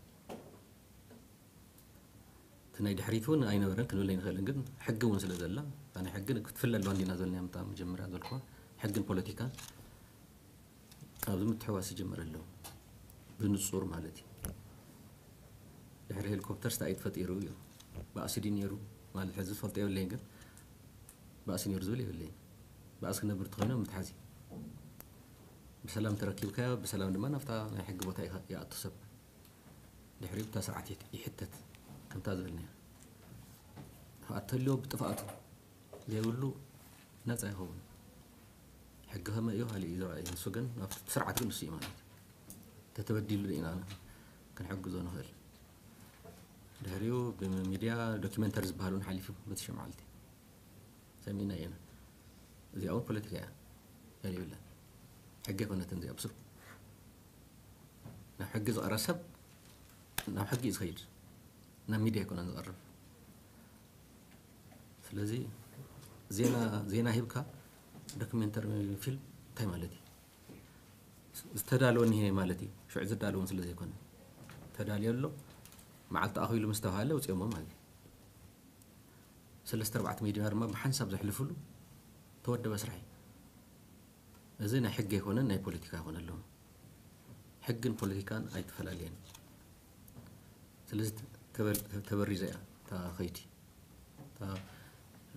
ናይ ድሕሪት እውን ኣይነበረን ክንብል ኣይንኽእልን፣ ግን ሕጊ እውን ስለ ዘላ፣ እታ ናይ ሕጊ ክትፍለ ኣለዋ እንዲና ዘልናያ፣ ምታ መጀመርያ ዘልኩዋ ሕግን ፖለቲካን ኣብዚ ምትሕዋስ ይጅመር ኣለዉ፣ ብንጹር ማለት እዩ። ድሕሪ ሄሊኮፕተር ስታይ ተፈጢሩ እዩ፣ ባእሲ ድዩ ነይሩ ማለት ሕዚ ዝፈልጦ የብለይን፣ ግን ባእሲ ነይሩ ዝብል የብለይን። ባእሲ ክነብር ተኾይኖም ምትሓዝ እዩ። ብሰላም ተረኪብካዮ፣ ብሰላም ድማ ናብታ ናይ ሕጊ ቦታ ይኸ- ይኣቱ ሰብ። ድሕሪኡ ብታ ስርዓት ይት- ይሕተት፣ ከምታ ዝበልናያ። ጥፍኣት ተልዮ ብጥፍኣቱ ዘይብሉ ነፃ ይኸውን። ሕጊ ከመይ እዩ ካልእ እዩ ዝረኣዩ፣ ንሱ ግን ናብቲ ስርዓት ግን ንሱ እዩ ማለት እዩ። ተተበዲሉ ኢና ክንሕግዞ ንኽእል። ድሕሪኡ ብሚድያ ዶኪመንተሪ ዝበሃል እውን ሓሊፉ በቲ ሽዑ መዓልቲ ሰሚዕና ኢና። እዚኣ እውን ፖለቲካ እያ፣ ገለ የብላን። ሕጊ ኣይኮነትን እዚኣ ብስሩ። ናብ ሕጊ ዝቐረብ ሰብ ናብ ሕጊ እዩ ዝኸይድ፣ ናብ ሚድያ ኣይኮነን ዝቐርብ። ስለዚ ዜና ዜና ሂብካ ዶክሜንተሪ ፊልም እንታይ ማለት እዩ? ዝተዳለወ እኒሄ ማለት እዩ። ሽዑ ዝዳለውን ስለ ዘይኮነ ተዳልዮ ኣሎ፣ መዓልቲ ኣኺሉ ምስ ተባሃለ ውፅኦሞ ማለት እዩ። ሰለስተ ኣርባዕተ ሚድያ ድማ ብሓንሳብ ዘሕልፍሉ ተወደበ ስራሕ እዩ። እዚ ናይ ሕጊ ኣይኮነን፣ ናይ ፖለቲካ ይኮነ ኣለዎ። ሕግን ፖለቲካን ኣይተፈላለየን። ስለዚ ተበል- ተበሪዘ እያ እታ ኸይቲ። እታ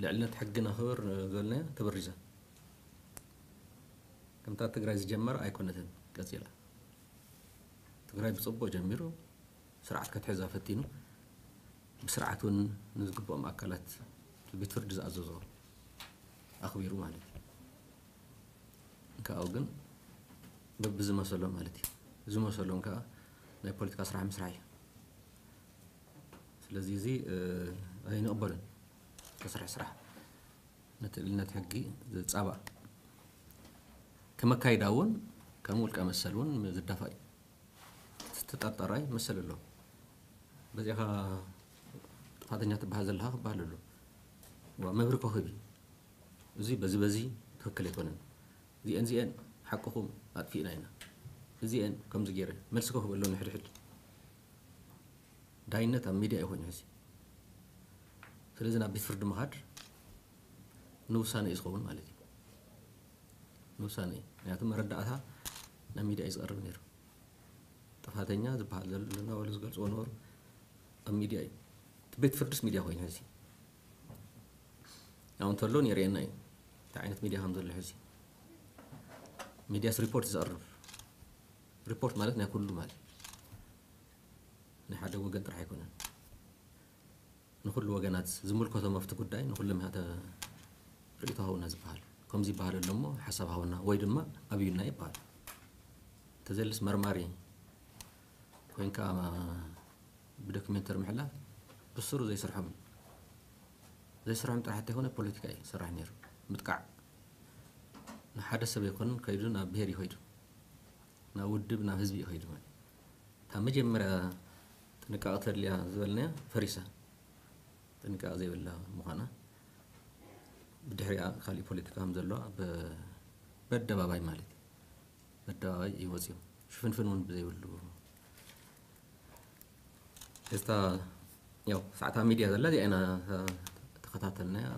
ልዕልነት ሕግን ኣኽብር ዝበልናያ ተበሪዘ። ከምታ ትግራይ ዝጀመረ ኣይኮነትን ቀፂላ። ትግራይ ብፅቡቅ ጀሚሩ ስርዓት ከትሕዛ ፈቲኑ ብስርዓት እውን ንዝግብኦም ኣካላት ቤት ፍርዲ ዝኣዘዞ ኣኽቢሩ ማለት እዩ። ካብኡ ግን በብዝመሰሎም ማለት እዩ። ዝመሰሎም ከዓ ናይ ፖለቲካ ስራሕ ምስራሕ እዩ። ስለዚ እዚ ኣይንቕበሉን። ተስርሕ ስራሕ ነቲ ልዕልነት ሕጊ ዝፃባእ ከመካይዳ እውን ከም ውልቀ መሰል እውን ዝዳፋእ እዩ። ተጠርጠራይ መሰል ኣሎ። በዚኻ ጥፋተኛ ትበሃል ዘለኻ ክበሃል ኣሎ። ዋ መብሪ ኮኸቢ እዚ በዚ በዚ ትክክል ኣይኮነን። እዚአን እዚአን ሓቅኹም ኣጥፊእና ኢና። እዚአን ከምዚ ገይረ መልሲ ክህበሎም ንሕድሕድ ዳይነት ኣብ ሚድያ ይኾን ሕዚ። ስለዚ ናብ ቤት ፍርዲ ምኻድ ንውሳነ እዩ ዝኸውን ማለት እዩ። ንውሳነ እዩ። ምክንያቱ መረዳእታ ናብ ሚድያ እዩ ዝቐርብ ነይሩ። ጥፋተኛ ዝበሃል ዘሎ እናበሉ ዝገልፅዎ ነበሩ ኣብ ሚድያ እዩ። እቲ ቤት ፍርድስ ሚድያ ኮይኑ ሕዚ ያው እንተሎ የርእየና እዩ። እንታይ ዓይነት ሚድያ ከም ዘሎ ሕዚ ሚድያስ ሪፖርት ዘቕርብ ሪፖርት ማለት ናይ ኩሉ ማለት ናይ ሓደ ወገን ጥራሕ ኣይኮነን። ንኩሉ ወገናት ዝምልከቶም ኣብቲ ጉዳይ ንኩሎም ኢኻ ተ- ርእይቶ ሃውና ዝበሃል ከምዚ ይበሃል ኣሎ እሞ ሓሳብ ሃውና ወይ ድማ ኣብዩና ይበሃል። ተዘልስ መርማሪ ኮይንካ ብዶክሜንተሪ ምሕላፍ ብስሩ ዘይስርሖም ዘይስርሖም ጥራሕ እንተይኮነ ፖለቲካ እዩ ዝስራሕ ነይሩ። ምጥቃዕ ንሓደ ሰብ ኣይኮንን ከይዱ ናብ ብሄር ይኸይዱ ናብ ውድብ ናብ ህዝቢ ይኸይዱ ማለት እታ መጀመርያ ጥንቃቐ ተድልያ ዝበልናያ ፈሪሳ ጥንቃቐ ዘይብላ ምዃና ብድሕሪኣ ካሊእ ፖለቲካ ከም ዘለዋ በ- በደባባይ ማለት እዩ በደባባይ ይወፅዮም ሽፍንፍን እውን ብዘይብሉ እዝታ ያው ሰዓታ ሚድያ ዘላ እዚኣ ኢና ተኸታተልናያ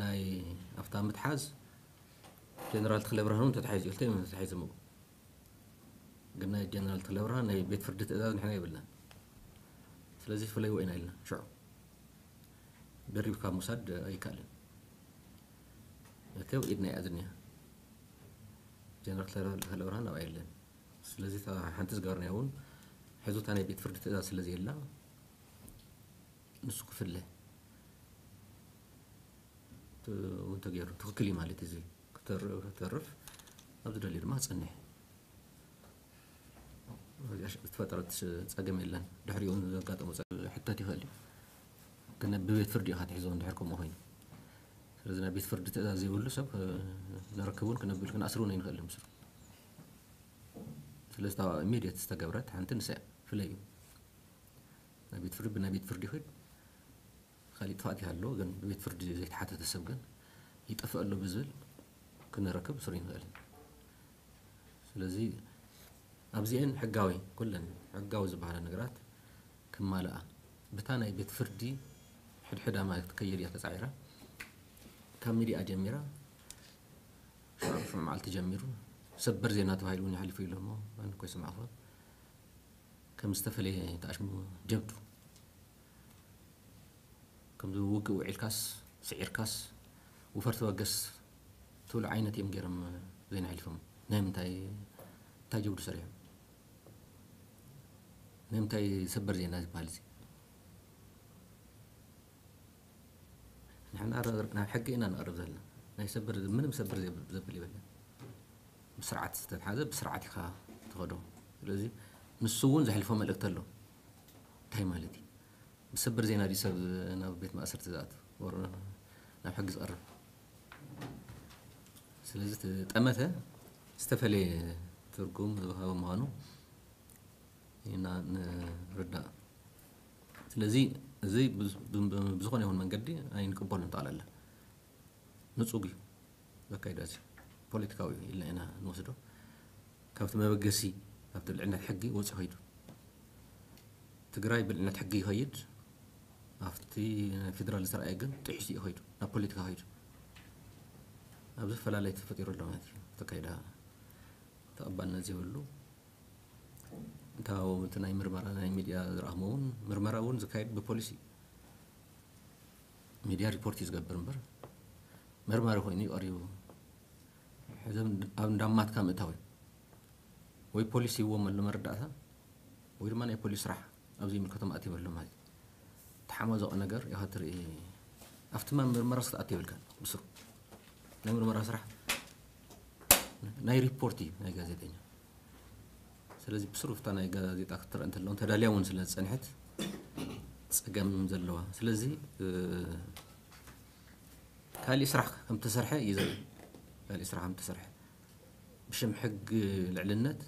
ናይ ኣብታ ምትሓዝ ጀነራል ተኽለ ብርሃን እውን ተታሒዙ እዩ ተታሒዞምዎ ግን ናይ ጀነራል ተኽለ ብርሃን ናይ ቤት ፍርዲ ትእዛዝ ንሕና የብልናን ስለዚ ፍለይዎ ኢና ኢልና ሽዑ ደሪብካ ምውሳድ ኣይከኣልን መእተው ኢድና እያ ዝኒሃ ጀነራል ተኽለ ብርሃን ኣብኣ የለን ስለዚ ሓንቲ ዝገበርናዮ እውን ሕዚ እታ ናይ ቤት ፍርዲ ትእዛዝ ስለ ዘየላ ንሱ ክፍለ እውን ተገይሩ ትኽክል እዩ ማለት እዚ ክተርፍ ኣብ ዝደልዩ ድማ ክፀንሕ ዝተፈጠረት ፀገም የለን ድሕሪኡ ዘጋጠሙ ሕተት ይኽእል እዩ ግን ብቤት ፍርዲ ኢኻ ትሕዞ እንድሕር ከምኡ ኮይኑ ስለዚ ናይ ቤት ፍርዲ ትእዛዝ ዘይብሉ ሰብ ነረክብ እውን ክነብል ክንኣስር እውን ኣይንኽእል ምስሉ ስለዚ ኢሚድየት ዝተገብረት ሓንቲ ንሳ ፍለዩ ናይ ቤት ፍርዲ ብናይ ቤት ፍርዲ ይኽድ ካሊእ ጥፋት ይሃሎ ግን ብቤት ፍርዲ ዘይተሓተተ ሰብ ግን ይጠፍእ ኣሎ ብዝብል ክንረክብ ስሩ ይንኽእል ስለዚ ኣብዚአን ሕጋዊ ኩለን ሕጋዊ ዝበሃላ ነገራት ክማልኣ ብታ ናይ ቤት ፍርዲ ሕድሕዳ ማለት ክትከይድ እያ ተጻዒራ። ካብ ሚድያ ጀሚራ ሽዑ ሽዑ መዓልቲ ጀሚሩ ሰበር ዜና ተባሂሉ እውን ይሓልፉ ኢሎ እሞ ኣነ እኮ ይሰማዕኹ። ከም ዝተፈለየ ተኣሽሙ ጀብዱ ከምዚ ውግእ ውዒልካስ ስዒርካስ ውፈር ተበገስ ትብሉ ዓይነት እዮም ገይሮም ዜና ሓሊፎም። ናይ ምንታይ እንታይ ጀብዱ ሰሪሖም? ናይ ምንታይ ሰበር ዜና ዝበሃል እዚ? ንሕና ር- ናብ ሕጊ ኢና ንቐርብ ዘለና። ናይ ሰበር ምንም ሰበር ዘብ- ዘብል ይበለን። ብስርዓት ዝተትሓዘ ብስርዓት ኢኻ ትኸዶ። ስለዚ ንሱ እውን ዘሕልፎ መልእክቲ ኣሎ። እንታይ ማለት እዩ? ብሰበር ዜና ድዩ ሰብ ናብ ቤት ማእሰርቲ ዝኣቱ ወር ናብ ሕጊ ዝቐርብ? ስለዚ እቲ ጠመተ ዝተፈለየ ትርጉም ዝወሃበ ምዃኑ ኢና ንርዳእ። ስለዚ እዚ ብዝ- ብ- ብዝኾነ ይኹን መንገዲ ኣይንቅበሉን። ጠቕላላ ንጹግ እዩ ዘካይዳ እዚ ፖለቲካዊ እዩ ኢልና ኢና ንወስዶ። ካብቲ መበገሲ ካብቲ ልዕልነት ሕጊ ወፂኡ ኸይዱ። ትግራይ ብልዕልነት ሕጊ ይኸይድ፣ ኣብቲ ናይ ፌደራል ዝተረኣየ ግን ጥሒሱ እዩ ኸይዱ፣ ናብ ፖለቲካ ኸይዱ። ኣብዚ ፈላለይ ተፈጢሩ ኣሎ ማለት እዩ። ተካይዳ ተቐባልነት ዘይብሉ እንታው እቲ ናይ ምርመራ ናይ ሚድያ ዝረኣኽሞ እውን ምርመራ እውን ዝካየድ ብፖሊሲ እዩ። ሚድያ ሪፖርት እዩ ዝገብር እምበር መርማሪ ኮይኑ እዩ ቀሪቡ። ሕዚ ኣብ እንዳማትካ ምእታው እዩ። ወይ ፖሊስ ይዎም ኣሎ መረዳእታ ወይ ድማ ናይ ፖሊስ ስራሕ ኣብ ዘይምልከቶም ኣትዮም ኣሎ ማለት እዩ። ተሓማዘቐ ነገር ኢኻ ትርኢ። ኣብቲ ማ ምርመራ ክትኣቱ የብልካን ብስሩ። ናይ ምርመራ ስራሕ ናይ ሪፖርት እዩ ናይ ጋዜጠኛ። ስለዚ ብስሩ ፍታ ናይ ጋዜጣ ክትረአ እንተለውን ተዳልያ እውን ስለ ዝፀንሐት ፀገም ዘለዋ። ስለዚ እ፣ ካሊእ ስራሕ ከም ተሰርሐ እዩ ዘርኢ። ካሊእ ስራሕ ከም ተሰርሐ ብሽም ሕግ ልዕልነት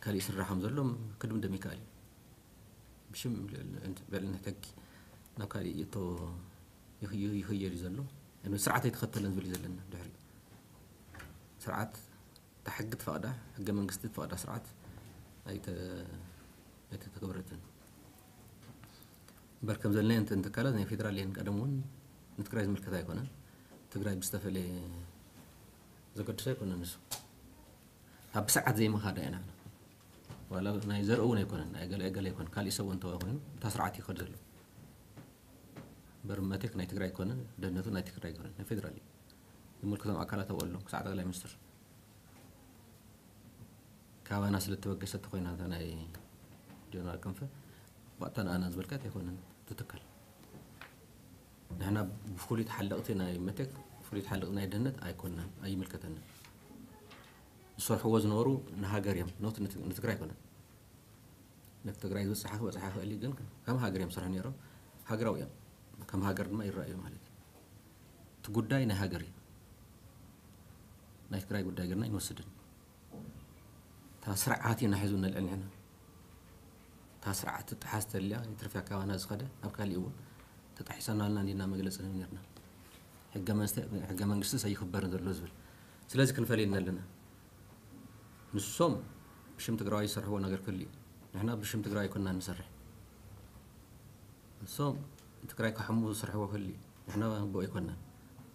ካሊእ ስራሕ ከም ዘሎ ክድምደም ይከኣል እዩ። ብሽም ልዕልነት ሕጊ ናብ ካሊእ ይእቶ ይኽዩ- ይኽየድ እዩ ዘሎ። ስርዓት ኣይተኸተለን ዝብል እዩ ዘለና ድሕሪ ስርዓት እታ ሕጊ ትፈቕዳ ሕገ መንግስቲ ትፈቕዳ ስርዓት ኣይተ ኣይተተግበረትን። እምበር ከም ዘለናዮ እንተ- እንትካላት ናይ ፌደራል እየን ቀደም እውን ንትግራይ ዝምልከት ኣይኮነን። ትግራይ ብዝተፈለየ ዘገድሶ ኣይኮነን ንሱ። ኣብ ብስርዓት ዘይምኻድ ኢና ዋላ ናይ ዘርኢ እውን ኣይኮነን ናይ ገለ ገለ ኣይኮነን ካልእ ሰብ እውን እንተኾይኑ እታ ስርዓት ይኸድ ዘሎ። እምበር መቴክ ናይ ትግራይ ኣይኮነን ደህንነቱ ናይ ትግራይ ኣይኮነን ናይ ፌደራል እዩ። ዝምልከቶም ኣካላት ኣብኡ ኣለዉ ክሳዕ ጠቅላይ ሚኒስትር ካባና ስለ እተበገሰት ኮይና እታ ናይ ጀነራል ክንፈ ባእታ ንኣና ዝበልካት ኣይኮነን ትትከል። ንሕና ብፍሉይ ተሓለቕቲ ናይ መቴክ ፍሉይ ተሓለቕቲ ናይ ደህንነት ኣይኮንናን ኣይምልከተንን። ዝሰርሕዎ ዝነበሩ ንሃገር እዮም ኖት ንትግራይ ኣይኮነን። ነቲ ትግራይ ዝበፅሓ ክበፅሓ ይኽእል እዩ ግን ከም ሃገር እዮም ዝሰርሑ ነይሮም። ሃገራዊ እዮም ከም ሃገር ድማ ይረኣዩ ማለት እዩ። እቲ ጉዳይ ናይ ሃገር እዩ። ናይ ትግራይ ጉዳይ ገርና ይንወስድን እታ ስርዓት ኢና ሒዙ ነልዕል ንሕና። እታ ስርዓት ትጠሓስ ተልያ ይትርፍያ ካባና ዝኸደ ኣብ ካሊእ እውን ተጣሒሰናልና እንዲና መግለፂ ነብ ነርና። ሕገ መንግስቲ ሰይክበርን ዘሎ ዝብል ስለዚ ክንፈልየና ኣለና። ንሶም ብሽም ትግራዋይ ዝሰርሕዎ ነገር ክህሉ እዩ። ንሕና ብሽም ትግራዋይ ኣይኮንና ንሰርሕ። ንሶም ትግራይ ክሓሙ ዝሰርሕዎ ክህሉ እዩ። ንሕና ብኡ ኣይኮንና።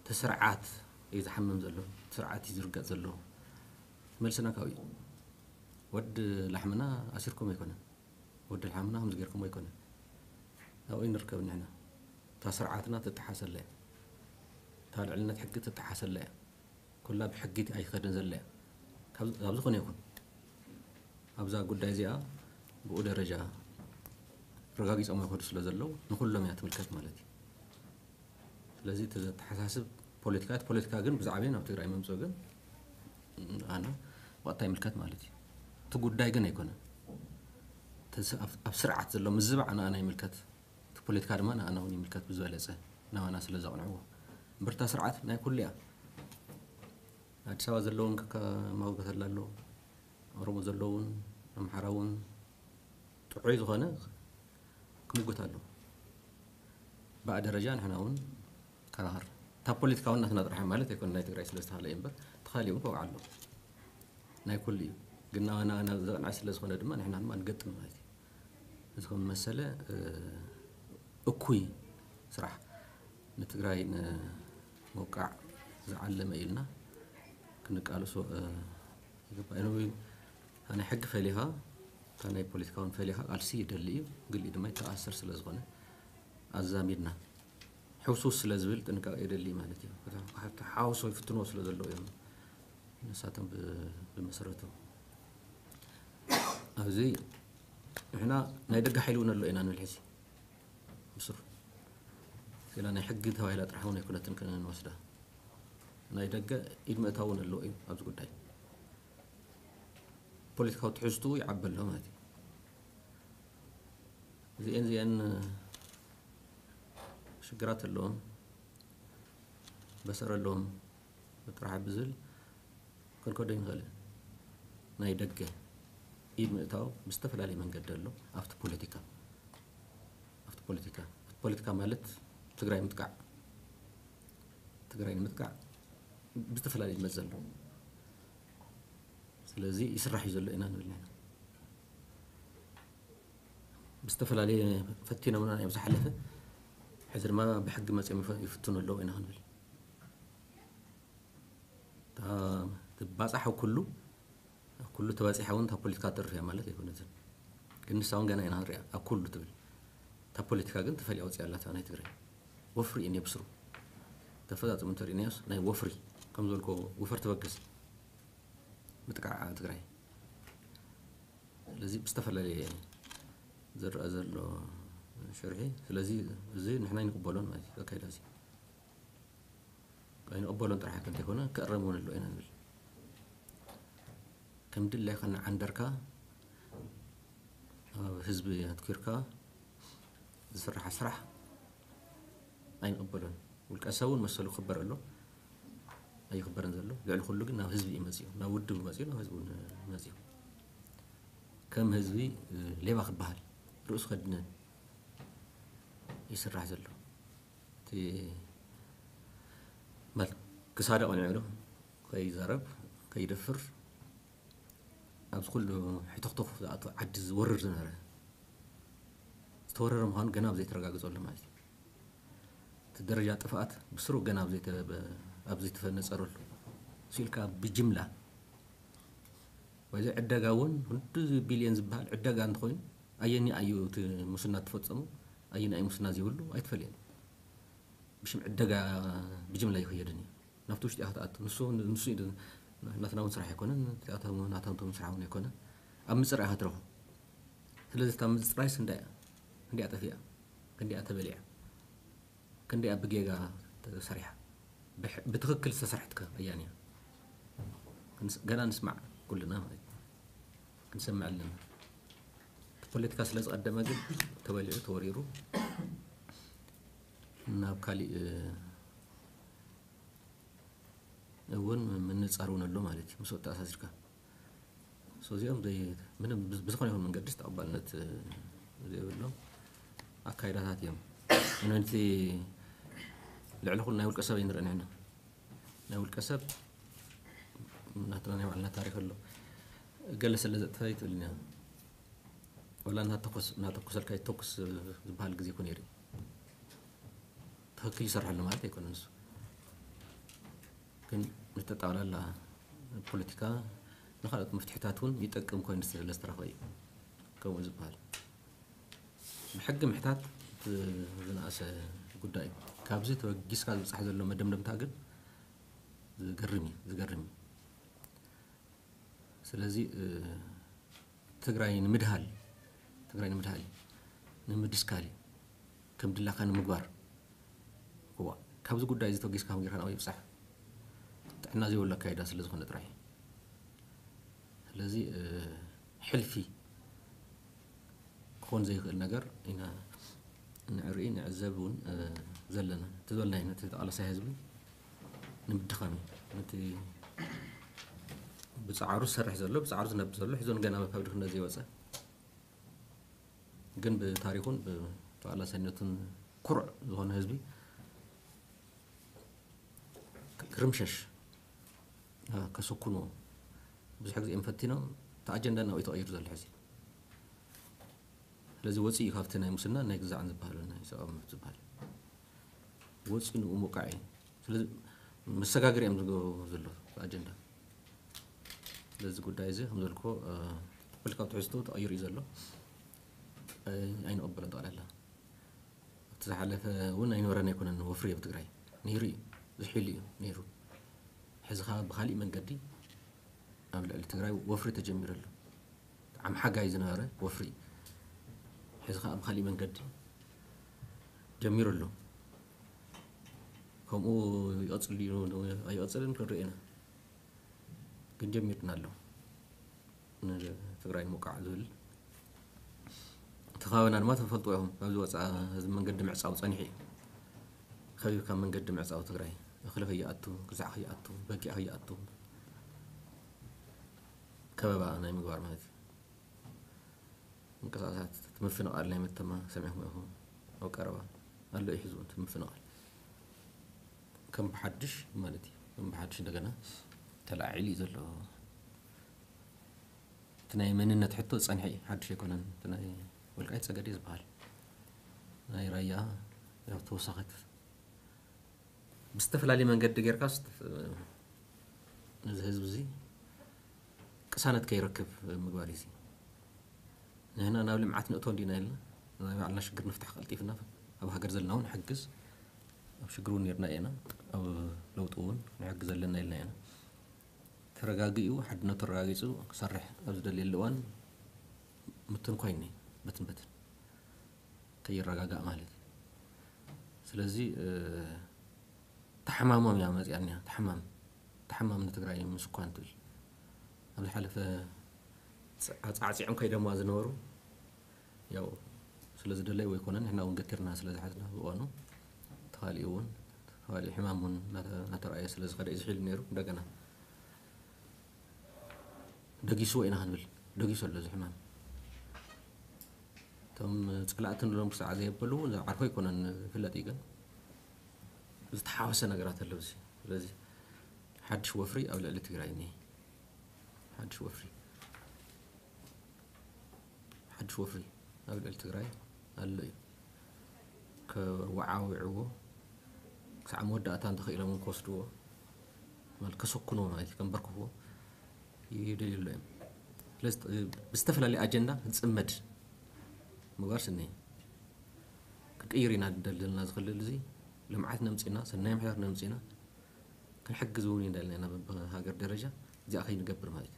እቲ ስርዓት እዩ ዝሓምም ዘሎ። እቲ ስርዓት እዩ ዝርገጥ ዘሎ። መልስና ካብኡ እዩ። ወዲ ላሕምና ኣሲርኩም ኣይኮነን። ወዲ ላሕምና ከምዚ ጌርኩም ኣይኮነን። ኣብኡ ንርከብ ንሕና። እታ ስርዓትና ትጠሓሰላ እያ። እታ ልዕልነት ሕጊ ትጠሓሰላ እያ። ኩላ ብሕጊ ኣይትኸድን ዘላ እያ። ካብ- ካብ ዝኾነ ይኹን ኣብዛ ጉዳይ እዚኣ ብኡ ደረጃ ረጋጊፆም ይኸዱ ስለ ዘለዉ ንኩሎም እያ ትምልከት ማለት እዩ። ስለዚ እቲ ዘተሓሳስብ ፖለቲካ እቲ ፖለቲካ ግን ብዛዕባ ናብ ትግራይ መምፅኡ ግን ኣነ ወቕታ ይምልከት ማለት እዩ። እቲ ጉዳይ ግን ኣይኮነን። እቲ ስ- ኣብ- ኣብ ስርዓት ዘሎ ምዝባዕ ንኣና ይምልከት። እቲ ፖለቲካ ድማ ንኣና እውን ይምልከት ብዝበለፀ ናባና ስለ ዘቕንዕዎ። እምበርታ ስርዓት ናይ ኩሉ እያ። ኣዲስ ኣበባ ዘለውን ከማውገተላ ኣሎ። ኦሮሞ ዘለውን ኣምሓራ እውን ጥዑይ ዝኾነ ክምጉት ኣሎ። ብኣ ደረጃ ንሕና እውን ከራኸር እታ ፖለቲካዊ እናትና ጥራሕ ማለት ኣይኮነ ናይ ትግራይ ስለ ዝተሃለ እዩ እምበር ተኻሊኡ እውን ከውዓ ኣሎ። ናይ ኩሉ እዩ ግን ናባና ናብ ዘቕንዐ ስለ ዝኾነ ድማ ንሕና ድማ ንገጥም ማለት እዩ። እዚ ከም መሰለ እ፣ እኩይ ስራሕ ንትግራይ ንምውቃዕ ዝዓለመ ኢልና ክንቃለሶ ይግባእ። ናይ ሕጊ ፈሊኻ፣ እታ ናይ ፖለቲካውን ፈሊኻ ቃልሲ ይደሊ እዩ፣ ግልኢ ድማ ይተኣሰር ስለ ዝኾነ ኣዛሚድና ሕውስውስ ስለ ዝብል ጥንቃቄ የደሊ ማለት እዩ። ሓውሶ ይፍትኖ ስለ ዘለዉ እዮም ንሳቶም ብመሰረቱ ኣብዚ ንሕና ናይ ደገ ሓይሊ እውን ኣሎ ኢና ንብል ሕዚ ምስሩ ስላ ናይ ሕጊ ተባሂላ ጥራሕ እውን ኣይኮነትን ክንወስዳ ናይ ደገ ኢድ ምእታው እውን ኣለዎ እዩ ኣብዚ ጉዳይ ፖለቲካዊ ትሕዝቱ ይዓበ ኣሎ ማለት እዩ። እዚአን እዚአን ሽግራት ኣለዎም በሰር ኣለዎም ጥራሕ ብዝብል ክንከዶ ይንኽእል። ናይ ደገ ኢድ ምእታው ብዝተፈላለየ መንገዲ ኣሎ ኣብቲ ፖለቲካ ኣብቲ ፖለቲካ ኣብቲ ፖለቲካ ማለት ትግራይ ምጥቃዕ ትግራይ ንምጥቃዕ ብዝተፈላለየ መዘ ኣሎ። ስለዚ ይስራሕ እዩ ዘሎ ኢና ንብል ኢና ብዝተፈላለየ ፈቲኖምና እዮም ዝሓለፈ ሕዚ ድማ ብሕጊ መፅኦም ይፈ- ይፍትኑ ኣለዉ ኢና ክንብል እታ ትባፃሕ ኣብ ኩሉ ኣብ ኩሉ ተባፂሓ እውን እታ ፖለቲካ ትርፍ እያ ማለት ኣይኮነትን ግን ንሳ እውን ገና ኢና ንሪኣ ኣብ ኩሉ ትብል እታ ፖለቲካ ግን ተፈልያ ወፂኣ ኣላታ ናይ ትግራይ ወፍሪ እዩ ብስሩ ተፈፃፅሙ እንተሪእናዮስ ናይ ወፍሪ ከም ዝበልኮ ውፈር ትበግስ ምጥቃዕ ትግራይ ስለዚ ብዝተፈላለየ ዝረአ ዘሎ ሽርሒ ስለዚ እዚ ንሕና ይንቅበሎን ማለት እዩ ኣካይዳ እዚ ኣይንቕበሎን ጥራሕ እንተይኮነ ክእረም እውን ኣሎ ኢና ንብል ከም ድላይካ እናዓንደርካ ኣብ ህዝቢ ኣትኪርካ ዝስራሕ ስራሕ ኣይንቕበሎን ውልቀ ሰብ እውን መሰሉ ክኽበር ኣሎ ኣይኽበርን ዘሎ ልዕሊ ኩሉ ግን ናብ ህዝቢ እዩ መፅኡ ናብ ውድብ መፅኡ ናብ ህዝቢ እውን መፅኡ ከም ህዝቢ ሌባ ክበሃል ርእሱ ከድነ ይስራሕ ዘሎ እቲ ማለት ክሳደ ቀኒዑ ዶ ከይዛረብ ከይደፍር ኣብዚ ኩሉ ሕተኽተኽ ዝኣቱ ዓዲ ዝወርር ዝነበረ ዝተወረረ ምዃኑ ገና ኣብ ዘይተረጋግፀሉ ማለት እዩ እቲ ደረጃ ጥፍኣት ብስሩ ገና ኣብ ዘይተፈነፀረሉ ስኢልካ ብጅምላ ወይ ዕደጋ እውን ክንዲ ቢልዮን ዝበሃል ዕደጋ እንተኮይኑ ኣየኒ ኣዩ እቲ ሙስና ትፈፀሙ ኣየኒ ኣዩ ሙስና ዘይብሉ ኣይትፈልየን ብሽም ዕደጋ ብጅምላ ይኽየድን እዩ ናብቲ ውሽጢ ኢኻ ትኣቱ ንሱ ንሱ ናትና እውን ስራሕ ኣይኮነን ናታንቶም ስራሕ እውን ኣይኮነን ኣብ ምፅራይ ኢኻ ትረኽቦ ስለዚ እታ ምፅራይስ እንዳ እንዲያ ጠፊኣ ክንዲያ ተበሊዓ ክንዲያ ብጌጋ ተሰሪሓ ብትኽክል ዝተሰርሐት ከ ኣያን እያ ገና ንስማዕ ኩልና ማለት ክንሰምዕ ኣለና ፖለቲካ ስለ ዝቀደመ ግን ተበሊዑ ተወሪሩ ናብ ካሊእ እውን ምንፃር እውን ኣሎ ማለት እዩ ምስ ተኣሳሲርካ እዚኦም ምንም ብዝኾነ ይኹን መንገዲ ተቐባልነት ዘይብሎም ኣካይዳታት እዮም ነቲ ልዕሊ ኩሉ ናይ ውልቀ ሰብ ኣይንርኢ ንሕና ናይ ውልቀ ሰብ ናትና ናይ ባዕልና ታሪክ ኣሎ ገለ ስለ ዘጥፋ ይትብልና ወላ እናተኮሰልካ ይተኩስ ዝበሃል ግዜ ኮነ ይርኢ ትኽክል ይሰርሐሉ ማለት ኣይኮነ ንሱ ግን ንተጣውላላ ፖለቲካ ንካልኦት መፍትሕታት እውን ይጠቅም ኮይኑ ስለዝተረኸበ እዩ ከምኡ ዝበሃል ብሕጊ ምሕታት ዝነኣሰ ጉዳይ እዩ ካብዚ ተበጊስካ ዝብፃሕ ዘሎ መደምደምታ ግን ዝገርም እዩ ዝገርም እዩ ስለዚ ትግራይ ንምድሃል ትግራይ ንምድሃል ንምድስካል እዩ ከም ድላካ ንምግባር እዋ ካብዚ ጉዳይ እዚ ተጊስካ ጌርካ ናበይ ይብፃሕ ጥዕና ዘይብሉ ኣካይዳ ስለ ዝኾነ ጥራይ ስለዚ ሕልፊ ክኾን ዘይኽእል ነገር ኢና ንርኢ ንዕዘብ እውን ዘለና እቲ ዝበልናዮ ነቲ ተቃላሳይ ህዝቢ ንምድኻም እዩ ነቲ ብፃዕሩ ዝሰርሕ ዘሎ ብፃዕሩ ዝነብር ዘሎ ሒዞን ገና ካብ ድኽነት ዘይወፀ ግን ብታሪኹን ብተቃላሳይነቱን ኩሩዕ ዝኾነ ህዝቢ ክርምሸሽ ከሰኩንዎ ብዙሕ ግዜ እዮም ፈቲኖም እቲ ኣጀንዳ ናብኡ ተቐይሩ ዘሎ ሕዚ እዚ ወፂኡ ካብቲ ናይ ሙስና ናይ ግዛዕን ዝበሃሉ ናይ ሰብኣዊ መብት ዝበሃል ወፂኡ ንኡ ምውቃዕ እዩ። ስለዚ መሰጋገሪ እዮም ዝገብሩ ዘሎ ኣጀንዳ። ስለዚ ጉዳይ እዚ ከም ዘልኮ ፖለቲካዊ ትሕዝቶ ተቐይሩ እዩ ዘሎ። ኣይንቕበሎን። ጠቕላላ ኣብቲ ዝሓለፈ እውን ኣይነበረን ኣይኮነን ወፍሪ ኣብ ትግራይ ነይሩ እዩ። ዝሒሉ እዩ ነይሩ። ሕዚ ከዓ ብካሊእ መንገዲ ኣብ ልዕሊ ትግራይ ወፍሪ ተጀሚሩ ኣሎ። ብጣዕሚ ሓጋይ ዝነበረ ወፍሪ ሕዚ ከዓ ብካሊእ መንገዲ ጀሚሩ ኣሎ። ከምኡ ይቐፅል ድዩ ኣይቐፅልን ክንርኢ ኢና፣ ግን ጀሚርና ኣሎ። ንትግራይ ንምውቃዕ ዝብል እቲ ከባቢና ድማ ተፈልጥዎ ኢኹም። ካብዚ ወፃ እዚ መንገዲ ምዕፃው ፀኒሑ እዩ። ከቢብካ መንገዲ ምዕፃው ትግራይ እኽሊ ከይኣቱ፣ ግዛዕ ከይኣቱ፣ በጊዕ ከይኣቱ ከበባ ናይ ምግባር ማለት እዩ። ምንቅስቃሳት እቲ ምፍንቓል ናይ መተማ ሰሚዕኹም ኢኹም። ኣብ ቀረባ ኣሎ እዩ ሕዚ እውን እቲ ምፍንቓል ከም ብሓድሽ ማለት እዩ። ከም ብሓድሽ እንደገና ተላዒሉ እዩ ዘሎ። እቲ ናይ መንነት ሕቶ ዝፀንሐ እዩ፣ ሓድሽ ኣይኮነን። እቲ ናይ ወልቃይት ፀገዴ ዝበሃል ናይ ራያ ያው ተወሳኺት ብዝተፈላለየ መንገዲ ጌርካ ስት- ነዚ ህዝቢ እዚ ቅሳነት ከይረክብ ምግባር እዩ። ንሕና ናብ ልምዓት ንእቶ እንዲና ኢልና ናይ ባዕልና ሽግር ንፍታሕ ቀልጢፍና ኣብ ሃገር ዘለና እውን ንሕግዝ፣ ኣብ ሽግር እውን ነርና ኢና፣ ኣብ ለውጢ እውን ንሕግዝ ኣለና ኢልና ኢና። ተረጋጊኡ ሓድነቱ ተረጋጊፁ ክሰርሕ ኣብ ዝደልየሉ እዋን ምትን ኮይኑ እዩ በትን በትን ከይረጋጋእ ማለት እዩ። ስለዚ ተሓማሞም እያ መፅያ እኒያ። ተሓማም ተሓማም ንትግራይ ምስ እኳ እንትብል ኣብ ዝሓለፈ ኣፃዕፂዖም ከይደማ ዝነበሩ ያው ስለ ዝደለይ ወይ ኮነ ንሕና እውን ገቲርና ስለ ዝሓዝና ብእዋኑ ተኻሊኡ እውን ተኻሊኡ ሕማም እውን እናተረኣየ ስለ ዝኸደ እዩ ዝሒሉ ነይሩ። እንደገና ደጊስዎ ኢና ክንብል ደጊሱ ኣሎ እዚ ሕማም። እቶም ፀላእቲ ንሎም ክሳዕ ዘየበሉ ዓርኮ ኣይኮነን ዝፍለጥ እዩ፣ ግን ዝተሓወሰ ነገራት ኣሎ እዚ። ስለዚ ሓድሽ ወፍሪ ኣብ ልዕሊ ትግራይ እኒሀ። ሓድሽ ወፍሪ ሓድሽ ወፍሪ ኣብ ልዕሊ ትግራይ ኣሎ እዩ። ከወዓውዕዎ ክሳዕ መወዳእታ እንተኽኢሎም እውን ክወስድዎ ማለት ከሰኩንዎ ማለት እዩ፣ ከንበርክኽዎ ይደልዩ ኣሎ እዮም። ስለዚ ብዝተፈላለየ ኣጀንዳ ክንፅመድ ምግባር ስኒ ክንቅይር ኢና ንደሊ ዘለና። ዝኽልል እዚ ልምዓት ነምፅና ሰናይ ምሕዳር ነምፅና ክንሕግዝ እውን ይደልና ኢና። ብሃገር ደረጃ እዚኣ ከይንገብር ማለት እዩ።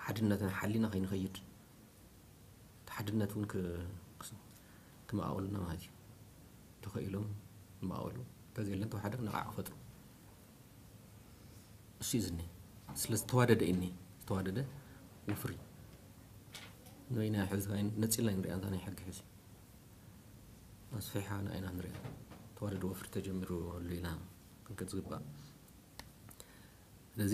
ሓድነትና ሓሊና ከይንኸይድ እቲ ሓድነት እውን ክመኣወሉና ማለት እዩ። ተኸኢሎም ይመኣወሉ፣ እንተዘየለን ተወሓደ ነቓዕ ክፈጥሩ እሱ እዩ ዝኒ። ስለ ዝተዋደደ እኒ ዝተዋደደ ወፍሪ ንበይና ሕዚ ነፂልና ንሪኣ እንታ ናይ ሕጊ ሕዚ ኣስፊሓ ንኣይና ንሪኣ ተዋደደ ወፍሪ ተጀሚሩ ኣሎ ኢና ክንከድ ዝግባእ። ስለዚ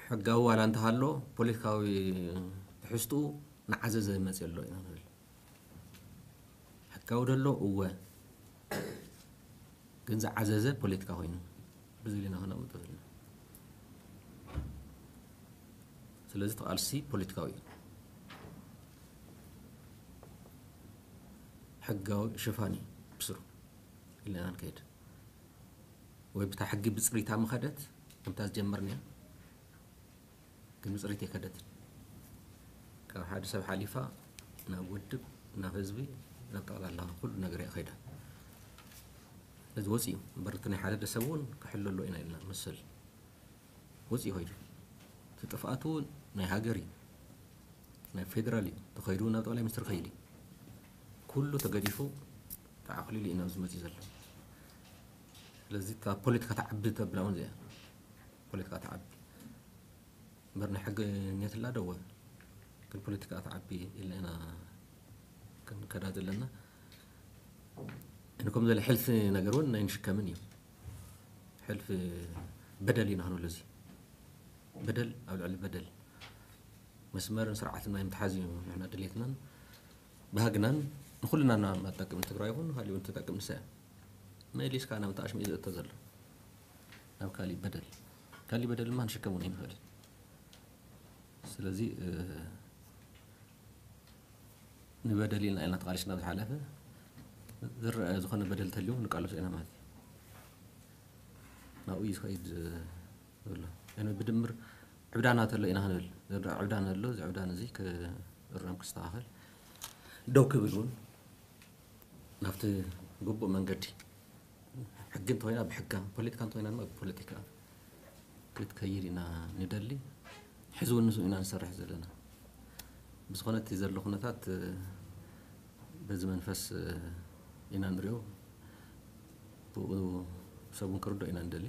ሕጋዊ ዋላ እንተሃሎ ፖለቲካዊ ትሕዝትኡ ንዓዘዘ መፅእ ኣሎ ኢና ንብል። ሕጋዊ ደሎ እወ፣ ግን ዝዓዘዘ ፖለቲካ ኮይኑ ብዝብል ኢና ከነቕምጦ ዘለና። ስለዚ ተቓልሲ ፖለቲካዊ እዩ። ሕጋዊ ሽፋን እዩ ብስሩ ኢልና ንከይድ ወይ ብታ ሕጊ ብፅሪታ ምኸደት ከምታ ዝጀመርንያ ግን ብፅሪት የከደት ካብ ሓደ ሰብ ሓሊፋ ናብ ውድብ ናብ ህዝቢ ናብ ጠቕላላ ኩሉ ነገር እያ ከይዳ። እዚ ወፂ እዩ እምበር እቲ ናይ ሓደ ሰብ እውን ክሕሎ ኣሎ ኢና ኢልና መሰል ወፂ ኮይኑ እቲ ጥፍኣቱ ናይ ሃገር እዩ ናይ ፌደራል እዩ ተኸይዱ ናብ ጠቕላይ ሚኒስትር ከይድ እዩ ኩሉ ተገዲፉ ተዓቕሊሉ እዩ ናብዚ መፂ ዘሎ። ስለዚ ፖለቲካ ተዓቢ ተብላ እውን እዚኣ ፖለቲካ ተዓቢ እምበር ናይ ሕጊ ኔትላ ደወ ግን ፖለቲካ ተዓቢ ኢልና ኢና ክንከዳ ዘለና። እንኮም ዘለ ሕልፊ ነገር እውን ናይ ንሽከምን እዩ። ሕልፊ በደል ኢና ክንብሎ እዚ በደል ኣብ ልዕሊ በደል መስመርን ስርዓትን ናይ ምትሓዝ እዩ ንሕና ድሌትናን ባህግናን ንኩልና ናብ ጠቅም ትግራይ ይኹን ካልእ እውን ተጠቅም ንሳ እያ። መሊስካ ናብ ተኣሽሙ እዩ ዝእቶ ዘሎ ናብ ካሊእ በደል ካሊእ በደል ድማ ንሽከም እውን ይንኽእል። ስለዚ ንበደል ኢልና ኢና ተቓሊስና ዝሓለፈ ዝረአ ዝኾነ በደል ተልዩ ንቃለሶ ኢና ማለት እዩ። ናብኡ እዩ ዝኸይድ ዘሎ። ብድምር ዕብዳና ተሎ ኢና ክንብል ዕብዳን ኣሎ። እዚ ዕብዳን እዚ ክእረም ክስተኻኸል ደው ክብል እውን ናብቲ ግቡእ መንገዲ ሕጊ እንተኮይና ብሕጋ ፖለቲካ እንተኮይና ድማ ብፖለቲካ ክትከይድ ኢና ንደሊ። ሕዚ እውን ንሱ ኢና ንሰርሕ ዘለና። ብዝኾነ እቲ ዘሎ ኩነታት በዚ መንፈስ ኢና ንሪኦ። ብኡ ሰብ እውን ክርዶ ኢና ንደሊ።